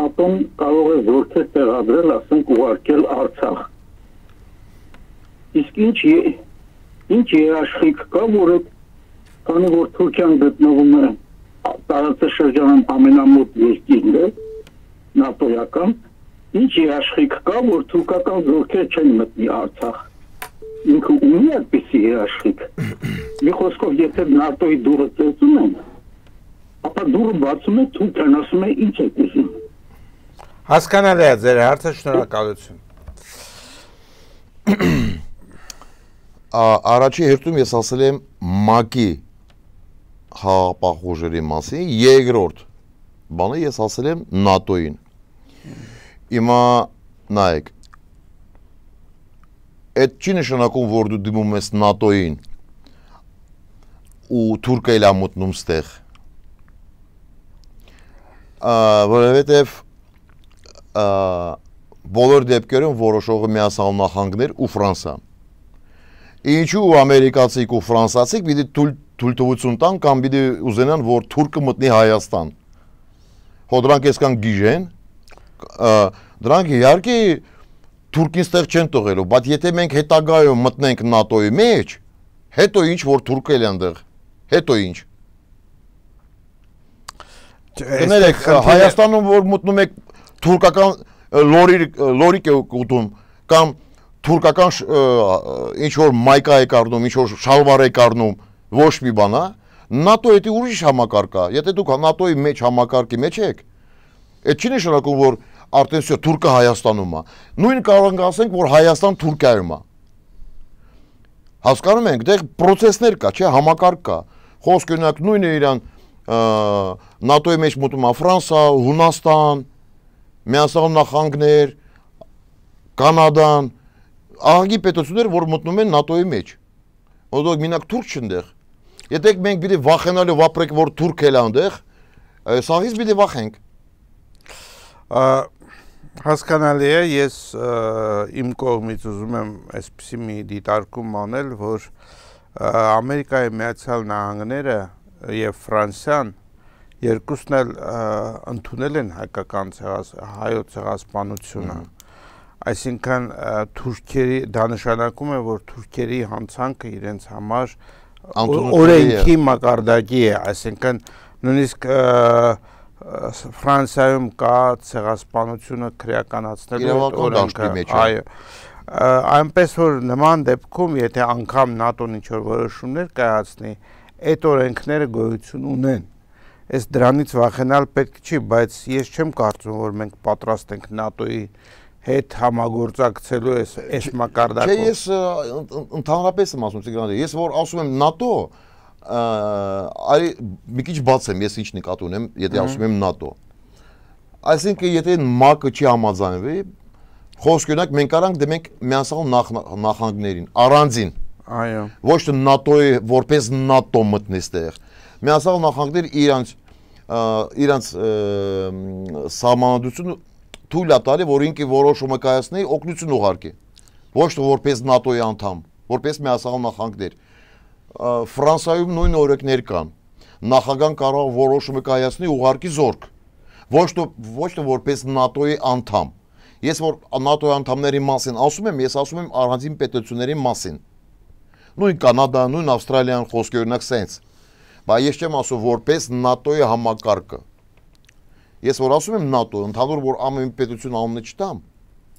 [SPEAKER 7] ՆԱՏՕ-ն կարող է զորքեր տեղադրել, ասենք ուղարկել Արցախ։ Իսկ ինչ ինչ երաշխիք կա, որը քանի որ Թուրքիան գտնվում է տարածաշրջանում ամենամոտ երկիրն է, ՆԱՏՕ-ական, ինչ երաշխիք կա, որ թուրքական զորքեր չեն մտնի Արցախ։ Ինքը ունի այդպիսի երաշխիք։ Մի խոսքով, եթե ՆԱՏՕ-ի դուռը ծեծում են, ապա դուռը բացում է Թուրքիան, ասում է ինչ է ուզում։
[SPEAKER 2] Հասկանալի է ձեր հարցը, շնորհակալություն։
[SPEAKER 3] Առաջի հերթում ես ասել եմ ՄԱԿ-ի հաղապահ մասին, երկրորդ բանը ես ասել եմ ՆԱՏՕ-ին։ Հիմա նայեք, այդ չի նշանակում, որ դու դիմում ես ՆԱՏՕ-ին ու Թուրքիա էլ մտնում ստեղ, որովհետև բոլոր դեպքերում որոշողը Միացյալ Նահանգներ ու Ֆրանսիա։ Ինչու ամերիկացիք ու ֆրանսացիք պիտի թույլտվություն տան կամ պիտի ուզենան, որ Թուրքը մտնի Հայաստան։ Հո դրանք այսքան գիժեն, դրանք իհարկե Թուրքին ստեղ չեն տողելու, բայց եթե մենք հետագայում մտնենք ՆԱՏՕ-ի մեջ, հետո ինչ որ Թուրքը էլ այնտեղ, հետո ինչ։ Կներեք, Հայաստանում որ մտնում եք թուրքական լորիկ է ուտում կամ թուրքական ինչ որ մայկա է կառնում, ինչ որ շալվար է կառնում, ոչ մի բան, ՆԱՏՕ-ի դա ուրիշ համակարգ է։ Եթե դուք ՆԱՏՕ-ի մեջ համակարգի մեջ եք, այդ չի նշանակում, որ արդեն всё Թուրքը Հայաստանում է։ Նույն կարող ենք ասենք, որ Հայաստան Թուրքիայում է։ Հասկանում եք, դեռ process-ներ կա, չէ, համակարգ կա։ Խոսք օրինակ նույնը իրան ՆԱՏՕ-ի մեջ մտնում է Ֆրանսիա, Հունաստան, Միացյալ Նահանգներ, Կանադան, ահագի պետություններ, որ մտնում են ՆԱՏՕ-ի մեջ։ Ոնց մենակ թուրք չընդեղ։ Եթե մենք պիտի վախենալու վապրենք, որ թուրք էլ այնտեղ, սաղից պիտի վախենք։
[SPEAKER 2] Հասկանալի է, ես իմ կողմից ուզում եմ այսպիսի մի դիտարկում անել, որ Ամերիկայի Միացյալ Նահանգները եւ Ֆրանսիան երկուսն էլ ընդունել են հայկական հայոց ցեղասպանությունը։ Այսինքն թուրքերի դա նշանակում է, որ թուրքերի հանցանքը իրենց համար օրենքի մակարդակի է, այսինքն նույնիսկ Ֆրանսիայում կա ցեղասպանությունը քրեականացնելու օրենքը, այո, այնպես որ նման դեպքում, եթե անգամ ՆԱՏՕ-ն ինչ-որ որոշումներ կայացնի, այդ օրենքները գոյություն ունեն, Այս դրանից վախենալ պետք չի, բայց ես չեմ կարծում, որ մենք պատրաստ ենք ՆԱՏՕ-ի հետ համագործակցելու այս այս մակարդակով։
[SPEAKER 3] Չէ, ես ընդհանրապես եմ ասում, Տիգրան, ես որ ասում եմ ՆԱՏՕ, այ մի քիչ բաց եմ, ես ինչ նկատի ունեմ, եթե ասում եմ ՆԱՏՕ։ Այսինքն, եթե ՄԱԿ-ը չի համաձայնվի, խոսք ունենք մենք կարանք դեմենք միասնական նախագծերին, առանձին։
[SPEAKER 2] Այո։ Ոչ
[SPEAKER 3] թե ՆԱՏՕ-ի որպես ՆԱՏՕ մտնի այստեղ։ Միասնական նախագծեր իրանց իրանց սահմանադրությունը թույլ է տալի, որ ինքը որոշումը կայացնի, օգնություն ուղարկի։ Ոչ թե որպես ՆԱՏՕ-ի անդամ, որպես միասնական նախագծեր։ Ֆրանսիայում նույն օրենքներ կան։ Նախագահան կարող որոշումը կայացնի, ուղարկի զորք։ Ոչ թե ոչ թե որպես ՆԱՏՕ-ի անդամ։ Ես որ ՆԱՏՕ-ի անդամների մասին ասում եմ, ես ասում եմ առանձին պետությունների մասին։ Նույն Կանադա, նույն Ավստրալիան խոսքի օրինակ սենց։ Բայց ես չեմ ասում որպես ՆԱՏՕ-ի համակարգը։ Ես որ ասում եմ ՆԱՏՕ, ընդհանուր որ ամեն պետություն անունը չտամ,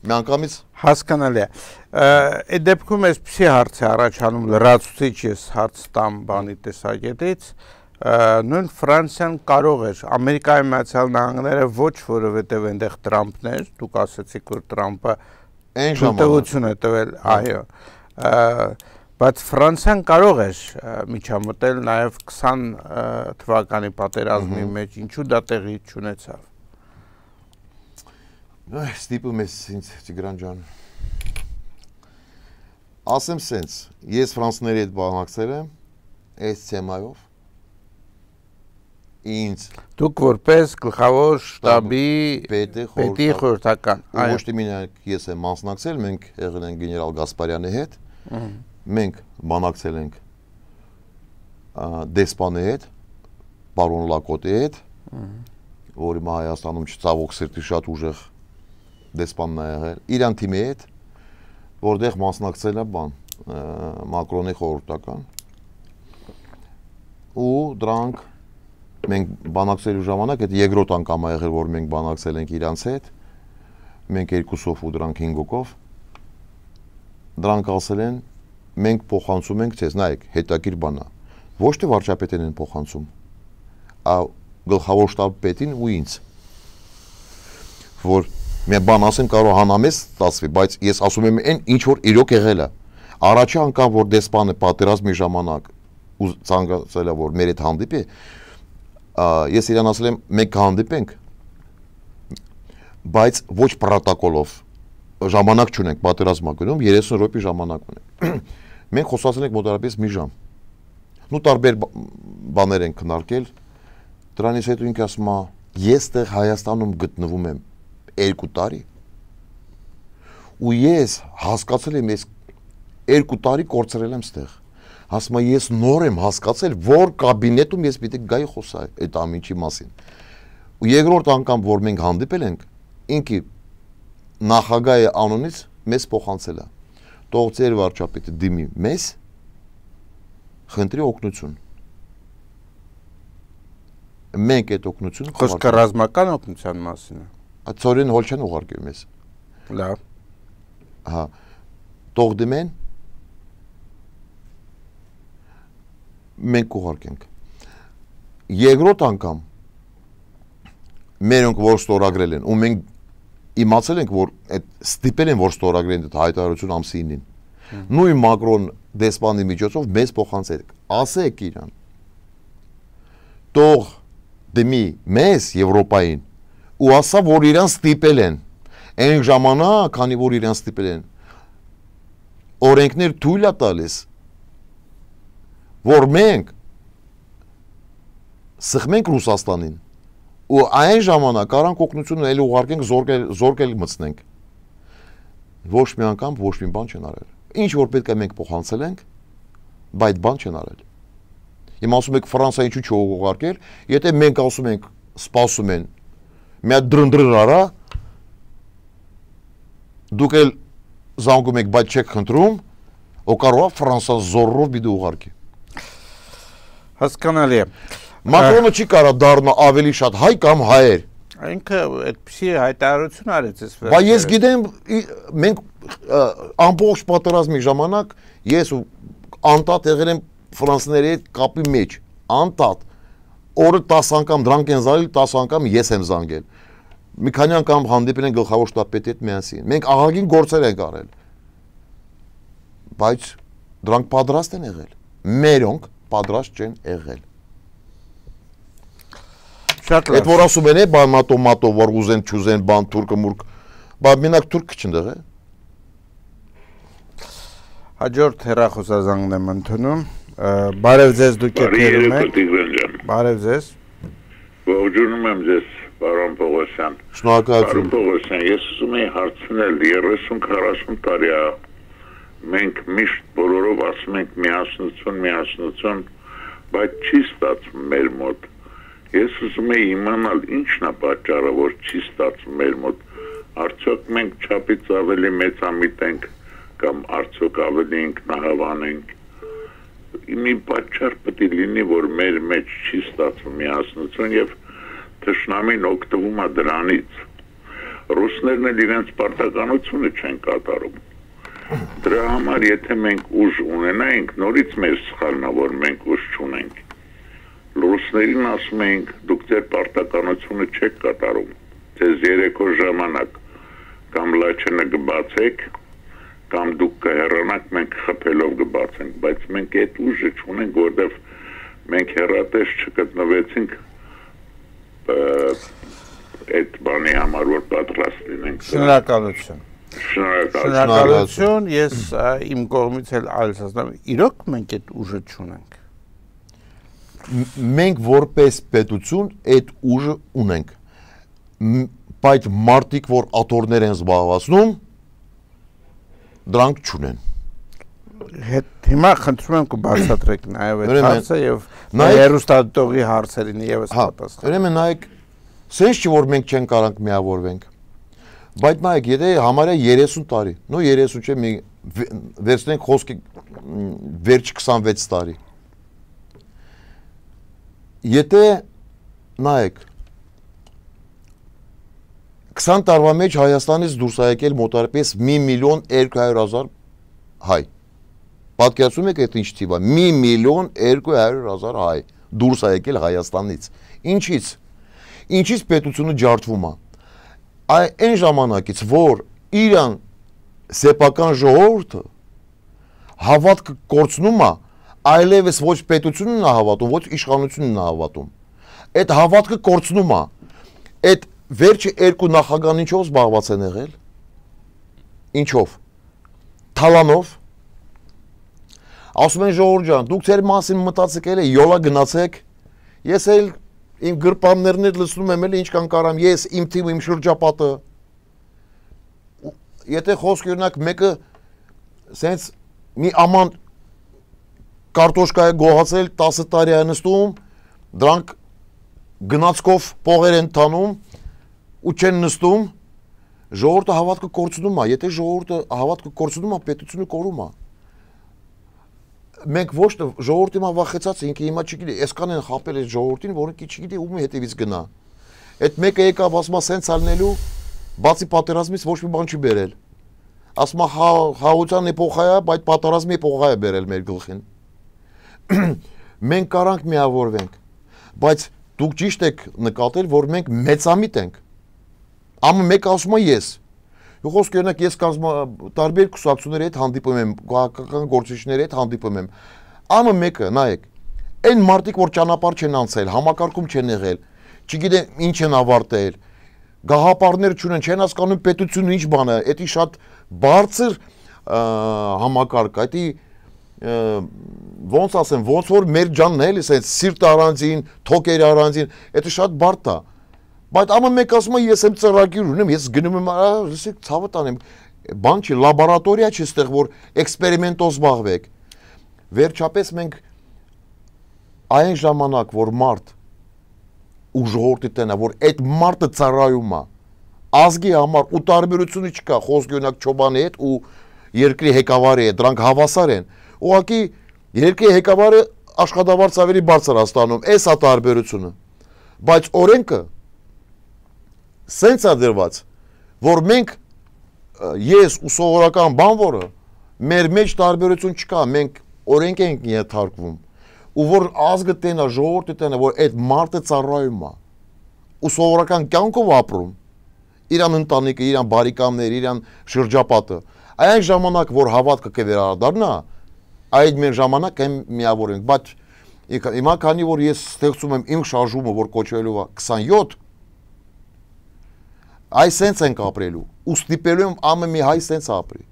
[SPEAKER 3] միանգամից
[SPEAKER 2] հասկանալի է։ Այդ դեպքում էսպիսի հարց է առաջանում լրացուցիչ ես հարց տամ բանի տեսակետից։ Նույն Ֆրանսիան կարող էր, Ամերիկայի Միացյալ Նահանգները ոչ, որովհետև այնտեղ Տրամփն էր, դուք ասացիք, որ Տրամփը թույլտվություն է տվել, այո, բայց Ֆրանսիան կարող էր միջամտել նաև քսան թվականի պատերազմի մեջ, ինչու դա տեղի չունեցավ։
[SPEAKER 3] Ստիպում ես ինձ, Տիգրան ջան, ասեմ սենց, ես ֆրանսների հետ բանակցել եմ այս թեմայով, ինձ
[SPEAKER 2] դուք որպես գլխավոր շտաբի պետի խորհրդական,
[SPEAKER 3] ոչ թե մենակ ես եմ մասնակցել, մենք եղել ենք գեներալ Գասպարյանի հետ, մենք բանակցել ենք դեսպանի հետ, պարոն Լակոտի հետ, որ հիմա Հայաստանում չծավոք սրտի շատ ուժեղ դեսպանն է եղել, իրան թիմի հետ, որտեղ մասնակցել է բան, Մակրոնի խորհրդական, ու դրանք մենք բանակցելու ժամանակ, այդ երկրորդ անգամ է եղել, որ մենք բանակցել ենք իրանց հետ, մենք երկուսով ու դրանք հինգոքով, դրանք ասել են, մենք փոխանցում ենք ձեզ, նայեք, հետաքրքիր բան է, ոչ թե վարչապետին են փոխանցում, այլ գլխավոր շտաբի պետին ու ինձ, որ մի բան ասեմ կարող հանամես ստացվի, բայց ես ասում եմ այն, ինչ որ իրոք եղել է, առաջի անգամ, որ դեսպանը պատերազմի ժամանակ ու ցանկացել է, որ մեր հետ հանդիպի, ես իրան ասել եմ, մենք կհանդիպենք, բայց ոչ պրոտոկոլով, ժամանակ չունենք, պատերազմա գնում, երեսուն րոպե ժամանակ ունենք։ Մենք խոսացել ենք մոտավորապես մի ժամ։ Նու տարբեր բաներ ենք քննարկել, դրանից հետո ինքը ասում է, ես տեղ Հայաստանում գտնվում եմ երկու տարի, ու ես հասկացել եմ, ես երկու տարի կորցրել եմ ստեղ։ Ասում եմ, ես նոր եմ հասկացել, որ կաբինետում ես պիտի գայի խոսալ այդ ամենի մասին։ Ու երկրորդ անգամ, որ մենք հանդիպել ենք, ինքը նախագահի անունից մեզ փոխանցել է։ Թող ձեր վարչապետը դիմի մեզ, խնդրի օգնություն։ Մենք այդ օգնությունը
[SPEAKER 2] խոսքը ռազմական օգնության մասին է։
[SPEAKER 3] Ծորեն հոլ չեն ուղարկել մեզ։
[SPEAKER 2] Լավ։
[SPEAKER 3] Հա։ Թող դիմեն մենք ուղարկենք։ Երկրորդ անգամ մերոնք որ ստորագրել են ու մենք իմացել ենք որ այդ ստիպել են որ ստորագրեն այդ հայտարարություն ամսինին։ Նույն Մակրոն դեսպանի միջոցով մեզ փոխանցել։ Ասեք իրան։ Թող դեմի մեզ Եվրոպային ու ասա որ իրան ստիպել են։ Այն ժամանակ, քանի որ իրան ստիպել են, օրենքներ թույլ է տալիս որ մենք սխմենք Ռուսաստանին ու այն ժամանակ կարանք օգնությունը էլ ուղարկենք զորք էլ մտցնենք։ Ոչ մի անգամ ոչ մի բան չեն արել։ Ինչ որ պետք է մենք փոխանցել ենք, բայց բան չեն արել։ Իմ ասում եք Ֆրանսիա ինչու չուղարկել, եթե մենք ասում ենք սպասում են, մի հատ դրնդրր արա, դուք էլ զանգում եք, բայց չեք խնդրում, ու կարող է Ֆրանսիա զորով պիտի ուղարկի։
[SPEAKER 2] Հասկանալի է։
[SPEAKER 3] Մակրոնը չի կարող դառնա ավելի շատ հայ կամ հայեր։
[SPEAKER 2] Ինքը այդպեսի հայտարարություն արեց այս վերջերս։
[SPEAKER 3] Բայց ես գիտեմ, մենք ամբողջ պատերազմի ժամանակ ես ու անդադ եղել եմ ֆրանսիաների հետ կապի մեջ, անդադ։ օրը տասը անգամ դրանք են զանգել, տասը անգամ ես եմ զանգել։ Մի քանի անգամ հանդիպել են գլխավոր շտաբի հետ միասին։ Մենք ահագին գործեր ենք արել։ Բայց դրանք պատրաստ են եղել։ Մերոնք պատրաստ չեն եղել։
[SPEAKER 2] Շատ
[SPEAKER 3] Այդ որ ասում են, բան մատո մատո որ ուզեն չուզեն բան թուրքը մուրք, բա մենակ թուրքը չնդեղ է։
[SPEAKER 2] Հաջորդ հեռախոսազանգն եմ ընդունում։ Բարև ձեզ, դուք եթերում եք։ Բարև ձեզ։
[SPEAKER 8] Ողջունում եմ ձեզ, պարոն Պողոսյան։
[SPEAKER 3] Շնորհակալություն։
[SPEAKER 8] Պարոն Պողոսյան, ես ուզում եմ հարցնել երեսուն քառասուն տարի է մենք միշտ բոլորով ասում ենք միասնություն, միասնություն, բայց չի ստացվում մեր մոտ։ Ես ուզում եմ իմանալ ինչն է պատճառը, որ չի ստացվում մեր մոտ։ Արդյոք մենք չափից ավելի մեծամիտ ենք կամ արդյոք ավելի ինքնահավան ենք։ Մի պատճառ պետք է լինի, որ մեր մեջ չի ստացվում միասնություն եւ թշնամին օգտվում է դրանից։ Ռուսներն էլ իրենց պարտականությունը չեն կատարում։ Դրա համար եթե մենք ուժ ունենայինք, նորից մեր սխալն է, որ մենք ուժ չունենք։ Ռուսներին ասում ենք, դուք ձեր պարտականությունը չեք կատարում։ Ձեզ երեկո ժամանակ կամ լաչենը կբացեք, կամ դուք կհեռանաք, մենք խփելով կբացենք, բայց մենք այդ ուժը չունենք, որտեվ մենք հեռատես չգտնվեցինք այդ բանի համար, որ պատրաստ լինենք։
[SPEAKER 2] Շնորհակալություն։
[SPEAKER 8] Շնորհակալություն։
[SPEAKER 2] Ես իմ կողմից էլ այլս ասեմ, իրոք մենք այդ ուժը չունենք։
[SPEAKER 3] Մենք որպես պետություն այդ ուժը ունենք։ Բայց մարդիկ, որ աթոռներ են զբաղվածնում, դրանք չունեն։
[SPEAKER 2] Հիմա խնդրում եմ կբացատրեք նաև այդ հարցը եւ հեռուստադիտողի հարցերին եւս պատասխան։
[SPEAKER 3] Ուրեմն նայեք, sense չի որ մենք չենք կարանք միավորվենք։ Բայց նայեք, եթե համարյա երեսուն տարի, նո երեսուն չէ, մի վերցնենք խոսքի վերջ քսանվեց տարի։ Եթե նայեք քսան տարվա մեջ Հայաստանից դուրս է եկել մոտարպես մի միլիոն երկու հարյուր հազար հայ։ Պատկերացնում եք այդ ինչ թիվ է, մի միլիոն երկու հարյուր հազար հայ դուրս է եկել Հայաստանից։ Ինչից։ Ինչից պետությունը ջարդվում է։ Այն ժամանակից, որ իրան սեփական ժողովուրդը հավատքը կորցնում է, այլևս ոչ պետությունն է հավատում, ոչ իշխանությունն է հավատում։ Այդ հավատքը կորցնում է։ Այդ վերջը երկու նախագահան ինչով զբաղված են եղել։ Ինչով։ Թալանով։ Ասում են ժողովուրդ ջան, դուք ձեր մասին մտածեք էլ յոլա գնացեք։ Ես էլ իմ գրպաններն էլ լսնում եմ էլ ինչքան կարամ, ես իմ թիմը, իմ շրջապատը։ Եթե խոսք օրինակ մեկը սենց մի աման կարտոշկա է գողացել տասը տարի է նստում, դրանք գնացքով փողեր են տանում ու չեն նստում, ժողովուրդը հավատքը կորցնում է, եթե ժողովուրդը հավատքը կորցնում է, պետությունը կորում է։ Մենք ոչ թե ժողովուրդը հիմա վախեցած է, ինքը հիմա չգիտի, այսքան են խապել այդ ժողովրդին, որ ինքը չգիտի ում հետևից գնա։ Այդ մեկը եկավ ասում է սենց ալնելու, բացի պատերազմից ոչ մի բան չի բերել։ Ասում է խաղաղության էպոխա է, բայց պատերազմի էպոխա է բերել մեր գլխին։ Մենք կարանք միավորվենք, բայց դուք ճիշտ եք նկատել, որ մենք մեծամիտ ենք։ Ամը մեկ ասում է ես։ Խոսք օրինակ ես տարբեր կուսակցությունների հետ հանդիպում եմ, քաղաքական գործիչների հետ հանդիպում եմ։ Ամը մեկը, նայեք, այն մարդիկ, որ ճանապարհ չեն անցել, համակարգում չեն եղել, չգիտեն ինչ են ավարտել, գաղափարներ չունեն, չեն հասկանում պետությունը ինչ բան է, դա շատ բարձր համակարգ է, դա ոնց ասեմ, ոնց որ մեր ջանն է, էլի սիրտ առանձին, թոքեր առանձին, դա շատ բարդ է։ Բայց ամեն մեկ ասում է ես եմ ծրագիր ունեմ, ես գնում եմ, լսեք, ցավը տանեմ, բան չի, լաբորատորիա չի ստեղ, որ էքսպերիմենտով զբաղվեք։ Վերջապես մենք այն ժամանակ, որ մարդ ու ժողովրդի տենա, որ այդ մարդը ծառայում է, ազգի համար ու տարբերությունը չկա, խոսք օրինակ Չոբանի հետ ու երկրի ղեկավարի հետ, դրանք հավասար են։ Ուղղակի երկրի ղեկավարը աշխատավարձ ավելի բարձր է ստանում, էս է տարբերությունը։ Բայց օրենքը սենց է դրված, որ մենք ես ու սովորական բանվորը մեր մեջ տարբերություն չկա, մենք օրենք ենք ենթարկվում։ ու որ ազգը տենա, ժողովուրդը տենա, որ այդ մարդը ծառայում է, ու սովորական կյանքով ապրում, իրան ընտանիքը, իրան բարեկամները, իրան շրջապատը, այն ժամանակ, որ հավատքը կվերադառնա, այդ մեր ժամանակ եմ միավորենք, բայց հիմա քանի որ ես ստեղծում եմ իմ շարժումը, որ կոչվելու է քսանյոթ, այ սենց ենք ապրելու, ու ստիպելու եմ ամեն մի հայ սենց ապրի։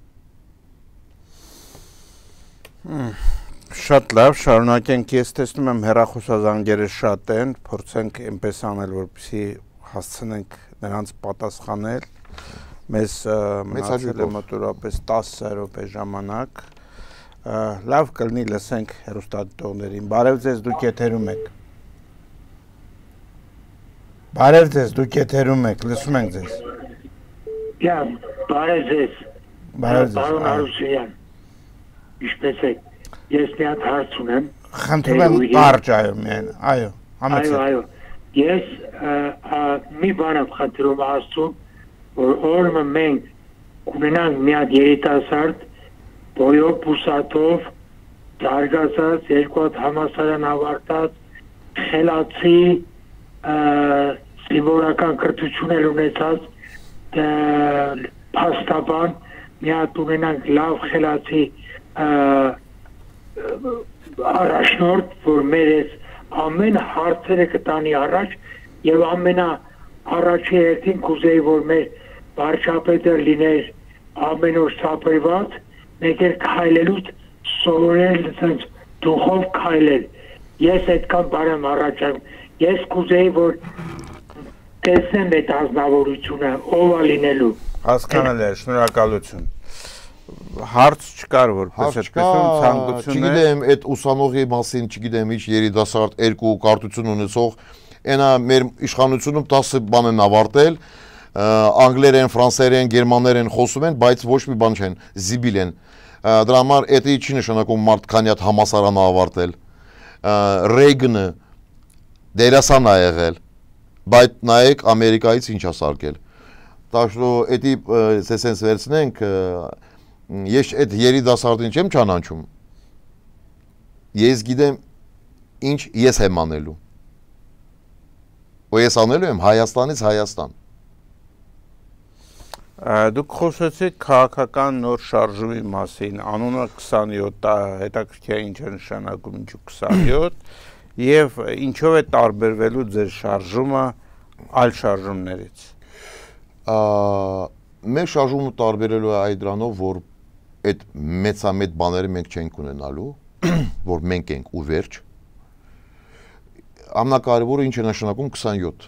[SPEAKER 2] Շատ լավ, շարունակենք, ես տեսնում եմ հեռախոսազանգերը շատ են, փորձենք այնպես անել, որպեսզի հասցնենք նրանց պատասխանել, մեզ մնացել է մոտավորապես տասը րոպե ժամանակ, լավ կլինի լսենք հեռուստադիտողներին, բարև ձեզ, դուք եթերում եք, բարև ձեզ, դուք եթերում եք, լսում ենք ձեզ,
[SPEAKER 7] բարև ձեզ, բարոն Արուսյան, ինչպես եք, ես մի հատ հարց ունեմ,
[SPEAKER 2] խնդրում եմ կարճ, այո, միայն, այո,
[SPEAKER 7] այո, այո, ես մի բան եմ խնդրում Աստծուն, որ օրը մենք կունենանք մի հատ երիտասարդ, բոյով, բուսատով, զարգացած, երկու հատ համալսարան ավարտած, խելացի, զինվորական կրթություն ունեցած, փաստաբան, մի հատ ունենանք լավ խելացի առաջնորդ, որ մեր այս ամեն հարցերը կտանի առաջ եւ ամենա առաջի հերթին կուզեի, որ մեր վարչապետը լիներ ամեն օր սապրված, մեկ էլ քայլելուց սովորել ցած դուխով քայլել։ Ես այդքան բարեմ առաջամ։ Ես կուզեի, որ տեսնեմ այդ ազնվորությունը, ով է լինելու։
[SPEAKER 2] Հասկանալի է, շնորհակալություն։ Հարց չկար, որպես այդպեսում ցանկություն է։
[SPEAKER 3] Չգիտեմ, այդ ուսանողի մասին, չգիտեմ, ինչ երիտասարդ երկու կարտություն ունեցող, այնա մեր իշխանությունում տասը բան են ավարտել, անգլերեն, ֆրանսերեն, գերմաներեն խոսում են, բայց ոչ մի բան չեն, զիբիլ են։ Դրա համար էդի չի նշանակում մարդ քանի հատ համալսարան ավարտել։ Ռեյգանը դերասան է եղել, բայց նայեք Ամերիկայից ինչ է սարքել։ Так что էդի սենց վերցնենք, ես այդ երիտասարդին չեմ ճանաչում, ես գիտեմ ինչ ես եմ անելու, ու ես անելու եմ Հայաստանից Հայաստան։
[SPEAKER 2] Դուք խոսեցիք քաղաքական նոր շարժումի մասին, անունը քսանյոթ, հետաքրքիր ինչ է նշանակում ինչու քսանյոթ, եւ ինչով է տարբերվելու ձեր շարժումը այլ շարժումներից։
[SPEAKER 3] Մեր շարժումը տարբերելու է այդ դրանով, որ այդ մեծամեծ բաները մենք չենք ունենալու, որ մենք ենք ու վերջ։ Ամենակարևորը ինչ է նշանակում քսանյոթ։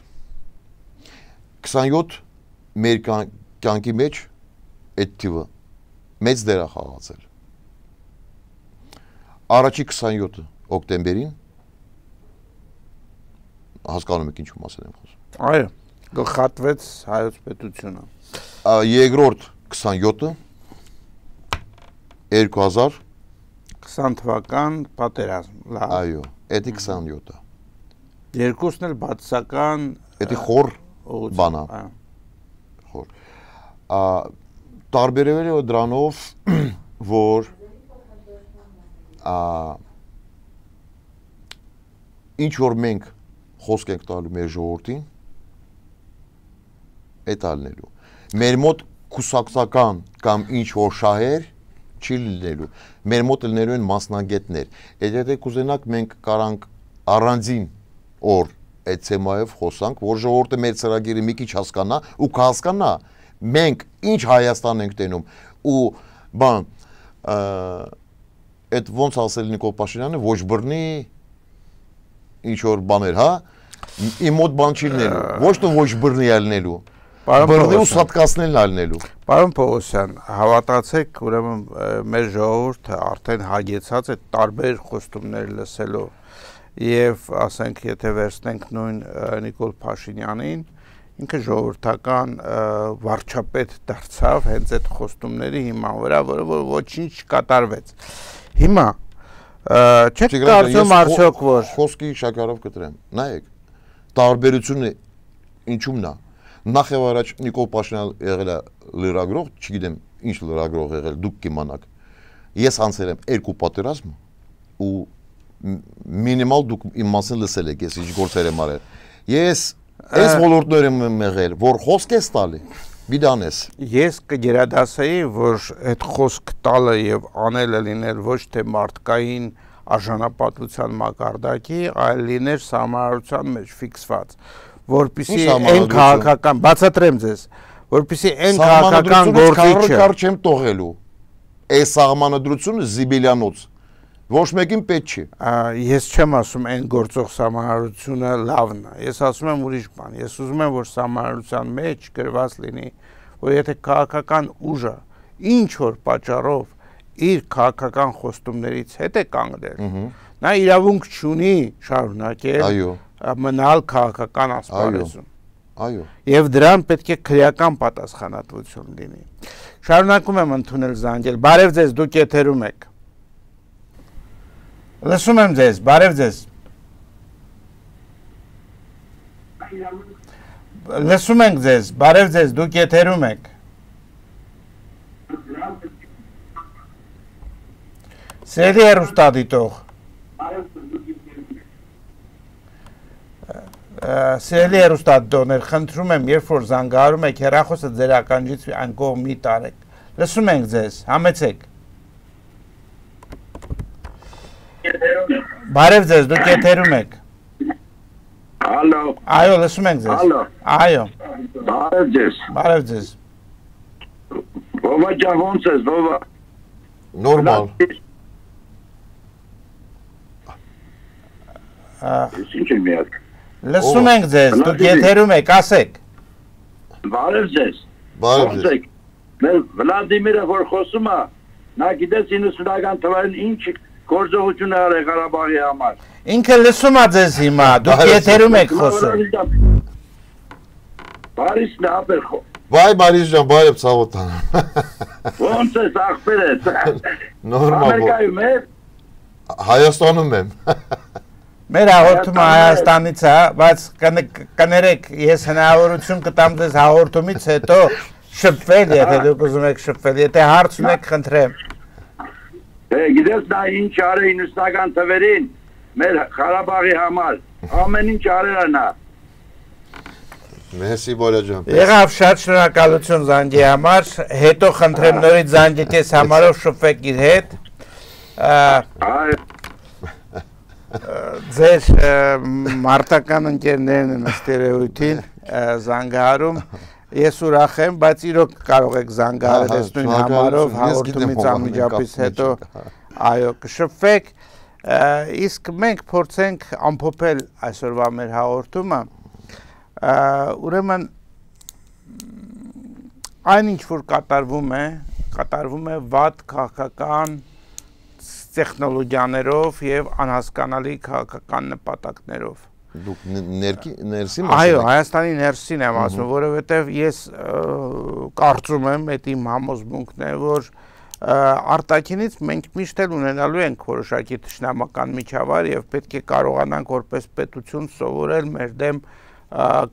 [SPEAKER 3] քսանյոթ մեր կյանքի մեջ այդ թիվը մեծ դեր է խաղացել։ Առաջի քսանյոթը օկտեմբերին հասկանում եք ինչու մասին եմ խոսում։
[SPEAKER 2] Այո, գլխատվեց հայոց պետությունը։
[SPEAKER 3] Երկրորդ քսանյոթը երկու հազար
[SPEAKER 2] քսան թվական պատերազմ, լավ։
[SPEAKER 3] Այո, էդի քսանյոթը։
[SPEAKER 2] Երկուսն էլ բացասական
[SPEAKER 3] էդի խոր բանա։ Խոր։ Տարբերվել է դրանով, որ ինչ որ մենք խոսք ենք տալու մեր ժողովրդին, այդ ալնելու։ Մեր մոտ կուսակցական կամ ինչ որ շահեր չի լինելու, մեր մոտ լինելու են մասնագետներ, այդ եթե կուզենակ մենք կարանք առանձին օր այդ թեմայով խոսանք, որ ժողովուրդը մեր ծրագիրը մի քիչ հասկանա ու կհասկանա մենք ինչ Հայաստան ենք տենում ու բան այդ ոնց ասել Նիկոլ Փաշինյանը ոչ բռնի ինչ որ բաներ, հա, իմ մոտ բան չի լինելու, ոչ թե ոչ բռնի ալնելու, բռնի ու սատկացնելն ալնելու։
[SPEAKER 2] Պարոն Պողոսյան, հավատացեք, ուրեմն մեր ժողովուրդը արդեն հագեցած է տարբեր խոստումներ լսելով եւ ասենք եթե վերցնենք նույն Նիկոլ Փաշինյանին, ինքը ժողովրդական վարչապետ դարձավ հենց այդ խոստումների հիման վրա, որը ոչինչ կատարվեց։ Հիմա չեք կարծում արդյոք որ
[SPEAKER 3] խոսքի շաքարով կտրեմ։ Նայեք, տարբերությունը ինչումն է։ Նախ եւ առաջ Նիկոլ Փաշինյանը եղել է լրագրող, չգիտեմ ինչ լրագրող եղել, դուք կիմանաք։ Ես անցել եմ երկու պատերազմ ու մինիմալ դուք իմ մասին լսել եք, ես ինչ գործեր եմ արել։ Ես այս ոլորտներ եմ եղել, որ խոսք ես տալի, բիդանես։
[SPEAKER 2] Ես կգերադասեի, որ այդ խոսք տալը եւ անելը լիներ ոչ թե մարդկային արժանապատվության մակարդակի, այլ լիներ սահմանադրության մեջ ֆիքսված, որպեսզի այն քաղաքական, բացատրեմ ձեզ, որպեսզի այն քաղաքական գործիչը
[SPEAKER 3] կար չեմ տողելու։ Այս սահմանադրությունը զիբիլյանոց ոչ մեկին պետք չի։
[SPEAKER 2] Ես չեմ ասում այն գործող սահմանադրությունը լավն է։ Ես ասում եմ ուրիշ բան։ Ես ուզում եմ, որ սահմանադրության մեջ գրված լինի, որ եթե քաղաքական ուժը ինչ որ պատճառով իր քաղաքական խոստումներից հետ է կանգնել, նա իրավունք չունի շարունակել մնալ քաղաքական ասպարեզում։
[SPEAKER 3] Այո։
[SPEAKER 2] Եվ դրան պետք է քրեական պատասխանատվություն լինի։ Շարունակում եմ ընդունել զանգել։ Բարև ձեզ, դուք եթերում եք։ Լսում եմ ձեզ, բարև ձեզ։ Լսում ենք ձեզ, բարև ձեզ, դուք եթերում եք։ Սիրելի հեռուստադիտող։ Սիրելի հեռուստադիտողներ, խնդրում եմ, երբ որ զանգահարում եք, հեռախոսը ձեր ականջից անկողմ մի տարեք։ Լսում ենք ձեզ, համեցեք։ Բարև ձեզ, դուք եթերում եք։
[SPEAKER 7] Ալո։
[SPEAKER 2] Այո, լսում ենք ձեզ։
[SPEAKER 7] Ալո։
[SPEAKER 2] Այո։
[SPEAKER 7] Բարև ձեզ։
[SPEAKER 2] Բարև ձեզ։
[SPEAKER 7] Ո՞վ ջան, ո՞նց ես, ո՞վ։
[SPEAKER 3] Նորմալ։
[SPEAKER 7] Ես ինչ եմ միակ։
[SPEAKER 2] Լսում ենք ձեզ, դուք եթերում եք, ասեք։
[SPEAKER 7] Բարև ձեզ։
[SPEAKER 3] Բարև ձեզ։
[SPEAKER 7] Մեր Վլադիմիրը որ խոսում է, նա գիտես իննսունական թվային ինչ գործողություն է արել Ղարաբաղի համար։
[SPEAKER 2] Ինքը լսում է ձեզ հիմա, դուք եթերում եք խոսում։
[SPEAKER 7] Բարիսն է ապեր խո։
[SPEAKER 3] Բայ Բարիս ջան, բարև Սավոթան։
[SPEAKER 7] Ոնց ես ախպերես։
[SPEAKER 3] Նորմալ։
[SPEAKER 7] Ամերիկայում ես։
[SPEAKER 3] Հայաստանում եմ։
[SPEAKER 2] Մեր հաղորդումը Հայաստանից է, բայց կներեք, ես հնարավորություն կտամ ձեզ հաղորդումից հետո շփվել, եթե դուք ուզում եք շփվել, եթե հարց ունեք, խնդրեմ։
[SPEAKER 7] Գիտես նա ինչ արել իննսունական թվերին մեր Ղարաբաղի համար, ամեն ինչ արել է նա։
[SPEAKER 3] Մերսի Բոլա ջան։
[SPEAKER 2] Եղավ, շատ շնորհակալություն զանգի համար, հետո խնդրեմ նորից զանգեք ես համարով շփվեք իր հետ։ Ձեր մարտական ընկերներն են ըստ երևույթին զանգահարում, ես ուրախ եմ, բայց իրոք կարող եք զանգահարել այս նույն համարով հաղորդումից անմիջապես հետո այո կշփվեք, իսկ մենք փորձենք ամփոփել այսօրվա մեր հաղորդումը, ուրեմն այն ինչ որ կատարվում է, կատարվում է վատ քաղաքական տեխնոլոգիաներով եւ անհասկանալի քաղաքական նպատակներով։
[SPEAKER 3] Դուք ներքի ներսի
[SPEAKER 2] Այո, Հայաստանի ներսին եմ ասում, որովհետեւ ես կարծում եմ, այդ իմ համոզմունքն է, որ արտաքինից մենք միշտ էլ ունենալու ենք որոշակի թշնամական միջավայր եւ պետք է կարողանանք որպես պետություն սովորել մեր դեմ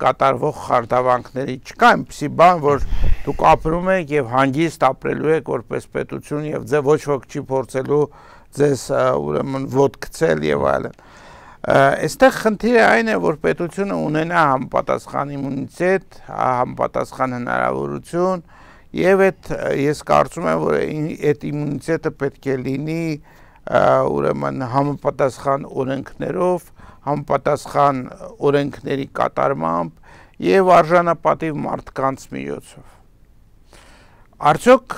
[SPEAKER 2] կատարվող խարդավանքների։ Չկա այնպիսի բան, որ դուք ապրում եք եւ հանգիստ ապրելու եք որպես պետություն եւ ձեզ ոչ ոք չի փորձելու ձեզ ուրեմն ոտքցել եւ այլն։ Այստեղ խնդիրը այն է, որ պետությունը ունենա համապատասխան իմունիտետ, համապատասխան հնարավորություն եւ այդ ես կարծում եմ, որ այդ իմունիտետը պետք է լինի ուրեմն համապատասխան օրենքներով, համապատասխան օրենքների կատարմամբ եւ արժանապատիվ մարդկանց միջոցով։ Արդյոք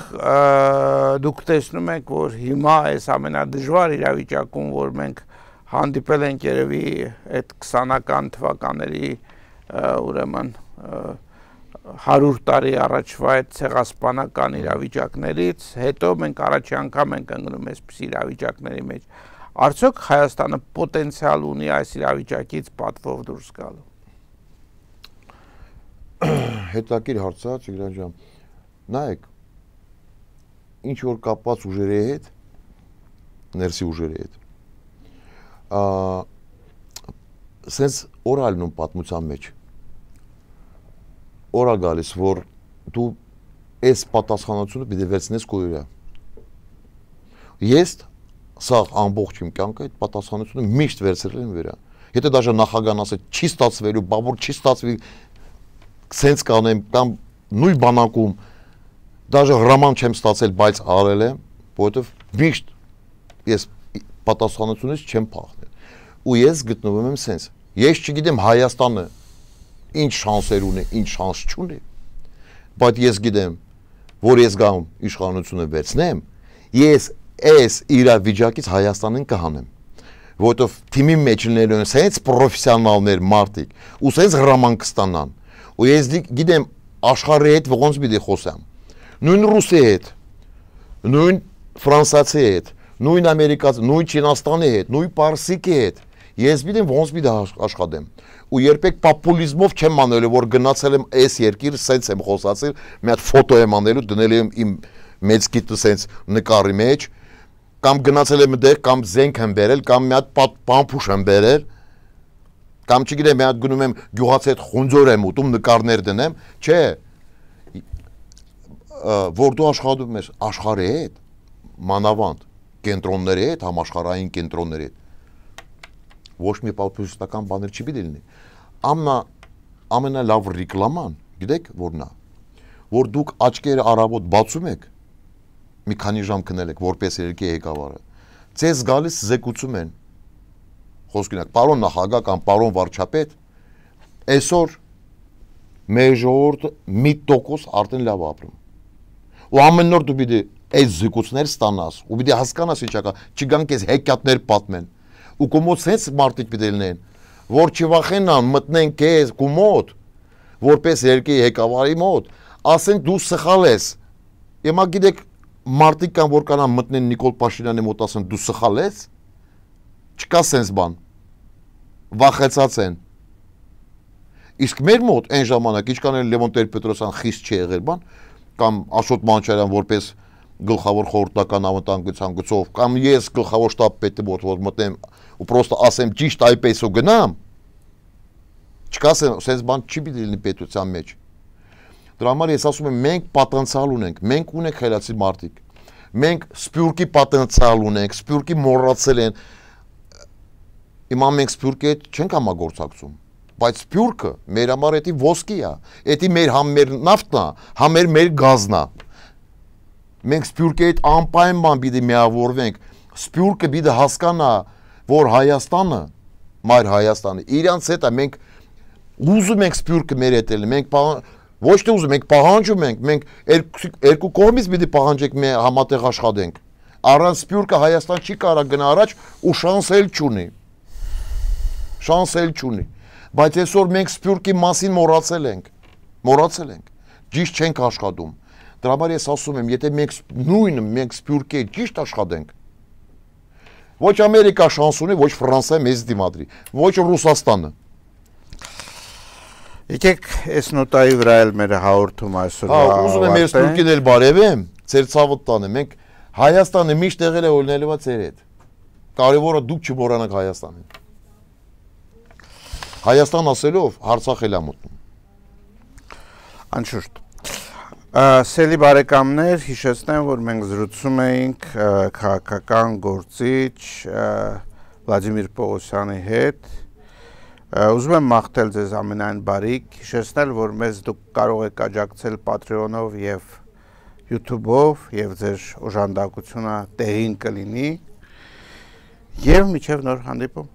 [SPEAKER 2] դուք տեսնում եք, որ հիմա այս ամենադժվար իրավիճակում, որ մենք հանդիպել ենք երևի այդ քսանական թվականների ուրեմն հարյուր տարի առաջվա այդ ցեղասպանական իրավիճակներից, հետո մենք առաջի անգամ ենք ընկնում այսպիսի իրավիճակների մեջ։ Արդյոք Հայաստանը պոտենցիալ ունի այս իրավիճակից պատվով դուրս գալու։
[SPEAKER 3] Հետաքրքիր հարց է, Տիգրան ջան։ Նայեք, ինչ որ կապված ուժերի հետ, ներսի ուժերի հետ, սենց օրալնում պատմության մեջ, օրա գալիս, որ դու այս պատասխանությունը պիտի վերցնես քո վրա։ Ես Սա ամբողջ իմ կյանքը այդ պատասխանատվությունը միշտ վերցրել եմ վրա։ Եթե դաժե նախագահան ասել չի ստացվելու, բաբուր չի ստացվի, սենց կանեմ կամ նույն բանակում դաժե հրաման չեմ ստացել, բայց արել եմ, որովհետև միշտ ես պատասխանատվությունից չեմ փախնել։ Ու ես գտնվում եմ սենց։ Ես չգիտեմ Հայաստանը ինչ շանսեր ունի, ինչ շանս չունի, բայց ես գիտեմ, որ ես գամ իշխանությունը վերցնեմ, ես այս իրավիճակից Հայաստանին կհանեմ, որովհետև թիմի մեջ լինելու են սենց պրոֆեսիոնալներ մարդիկ, ու սենց հրաման կստանան, ու ես գիտեմ աշխարհի հետ ոնց պիտի խոսեմ, նույն ռուսի հետ, նույն ֆրանսիացի հետ, նույն ամերիկացի, նույն չինաստանի հետ, նույն պարսիկի հետ, ես գիտեմ ոնց պիտի աշխատեմ, ու երբեք պոպուլիզմով չեմ անելու, որ գնացել եմ այս երկիր, սենց եմ խոսացել, մի հատ ֆոտո եմ անելու, դնել եմ իմ մեծ գիտը սենց նկարի մեջ, կամ գնացել եմ դեղ, կամ զենք եմ բերել, կամ մի հատ պամփուշ եմ բերել, կամ չգիտեմ, մի հատ գնում եմ գյուղացի հետ խունձոր եմ ուտում, նկարներ դնեմ, չէ, որ դու աշխատում ես աշխարհի հետ, մանավանդ կենտրոնների հետ, համաշխարհային կենտրոնների հետ, ոչ մի պոպուլիստական բաներ չի պիտի լինի։ Ամնա ամենալավ ռեկլաման, գիտեք որն է, որ դուք աչքերը առավոտ բացում եք, մի քանի ժամ քնել եք, որպես երկի ղեկավարը, ձեզ գալիս զեկուցում են, խոսքին եք, պարոն նախագահ կամ պարոն վարչապետ, այսօր մեր ժողովուրդը մի տոկոս արդեն լավ ապրում։ Ու ամեն նոր դու պիտի այս զեկուցներ ստանաս, ու պիտի հասկանաս ինչ ակա, չգան քեզ հեքիաթներ պատմեն։ Ու կոմոդ սենց մարդիկ պիտի լինեն, որ չվախենան մտնեն քեզ կոմոդ, որպես երկի ղեկավարի մոտ, ասեն դու սխալ ես։ Հիմա գիտեք մարդիկ կան, որ կանան մտնեն Նիկոլ Փաշինյանի մոտ ասեն դու սխալ ես, չկա սենց բան, վախեցած են։ Իսկ մեր մոտ այն ժամանակ, ինչքան էլ Լևոն Տեր-Պետրոսյան խիստ չի եղել բան, կամ Աշոտ Մանուկյան որպես գլխավոր խորհրդական անվտանգության գծով, կամ ես գլխավոր շտաբ պետը մոտ որ մտնեմ ու պրոստը ասեմ ճիշտ այպես ու գնամ, չկա սենց բան չի պիտի լինի պետության մեջ։ Դրա համար ես ասում եմ մենք պոտենցիալ ունենք, մենք ունենք խելացի մարդիկ, մենք սպյուրքի պոտենցիալ ունենք, սպյուրքի մոռացել են, հիմա մենք սպյուրքի հետ չենք համագործակցում, բայց սպյուրքը մեր համար էդի ոսկի է, էդի մեր համ մեր նավթն է, համ մեր գազն է։ Մենք սպյուրքի հետ անպայման պիտի միավորվենք, սպյուրքը պիտի հասկանա, որ Հայաստանը, մայր Հայաստանը, իրանց հետ է, մենք ուզում ենք սպյուրքը մեր հետ էլ, մենք ոչ թե ուզում ենք, պահանջում ենք, մենք երկու կողմից պիտի պահանջենք մի համատեղ աշխատենք, առանց սպյուրքը Հայաստան չի կարող գնա առաջ ու շանս էլ չունի, շանս էլ չունի, բայց այսօր մենք սպյուրքի մասին մոռացել ենք, մոռացել ենք, ճիշտ չենք աշխատում։ Դրա համար ես ասում եմ, եթե մենք նույնը մենք սպյուրքի ճիշտ աշխատենք, ոչ Ամերիկա շանս ունի, ոչ Ֆրանսիա մեզ դիմադրի, ոչ Ռուսաստանը։
[SPEAKER 2] Եկեք այս նոտայի վրա էլ մեր հաղորդում այսօր։
[SPEAKER 3] Հա, ուզում եմ ես սպյուրքին էլ բարևեմ, ձեր ցավը տանեմ, մենք Հայաստանը միշտ եղել է օրինելիվա ձեր հետ։ Կարևորը դուք չմոռանաք Հայաստանին։ Հայաստան ասելով Արցախ էլ է մտնում։
[SPEAKER 2] Անշուշտ։ Սելի բարեկամներ, հիշեցնեմ, որ մենք զրուցում էինք քաղաքական գործիչ Վլադիմիր Պողոսյանի հետ։ Ուզում եմ մաղթել ձեզ ամենայն բարիք, հիշեցնել, որ մեզ դուք կարող եք աջակցել Patreon-ով եւ YouTube-ով եւ ձեր օժանդակությունը տեղին կլինի։ Եվ մինչև նոր հանդիպում։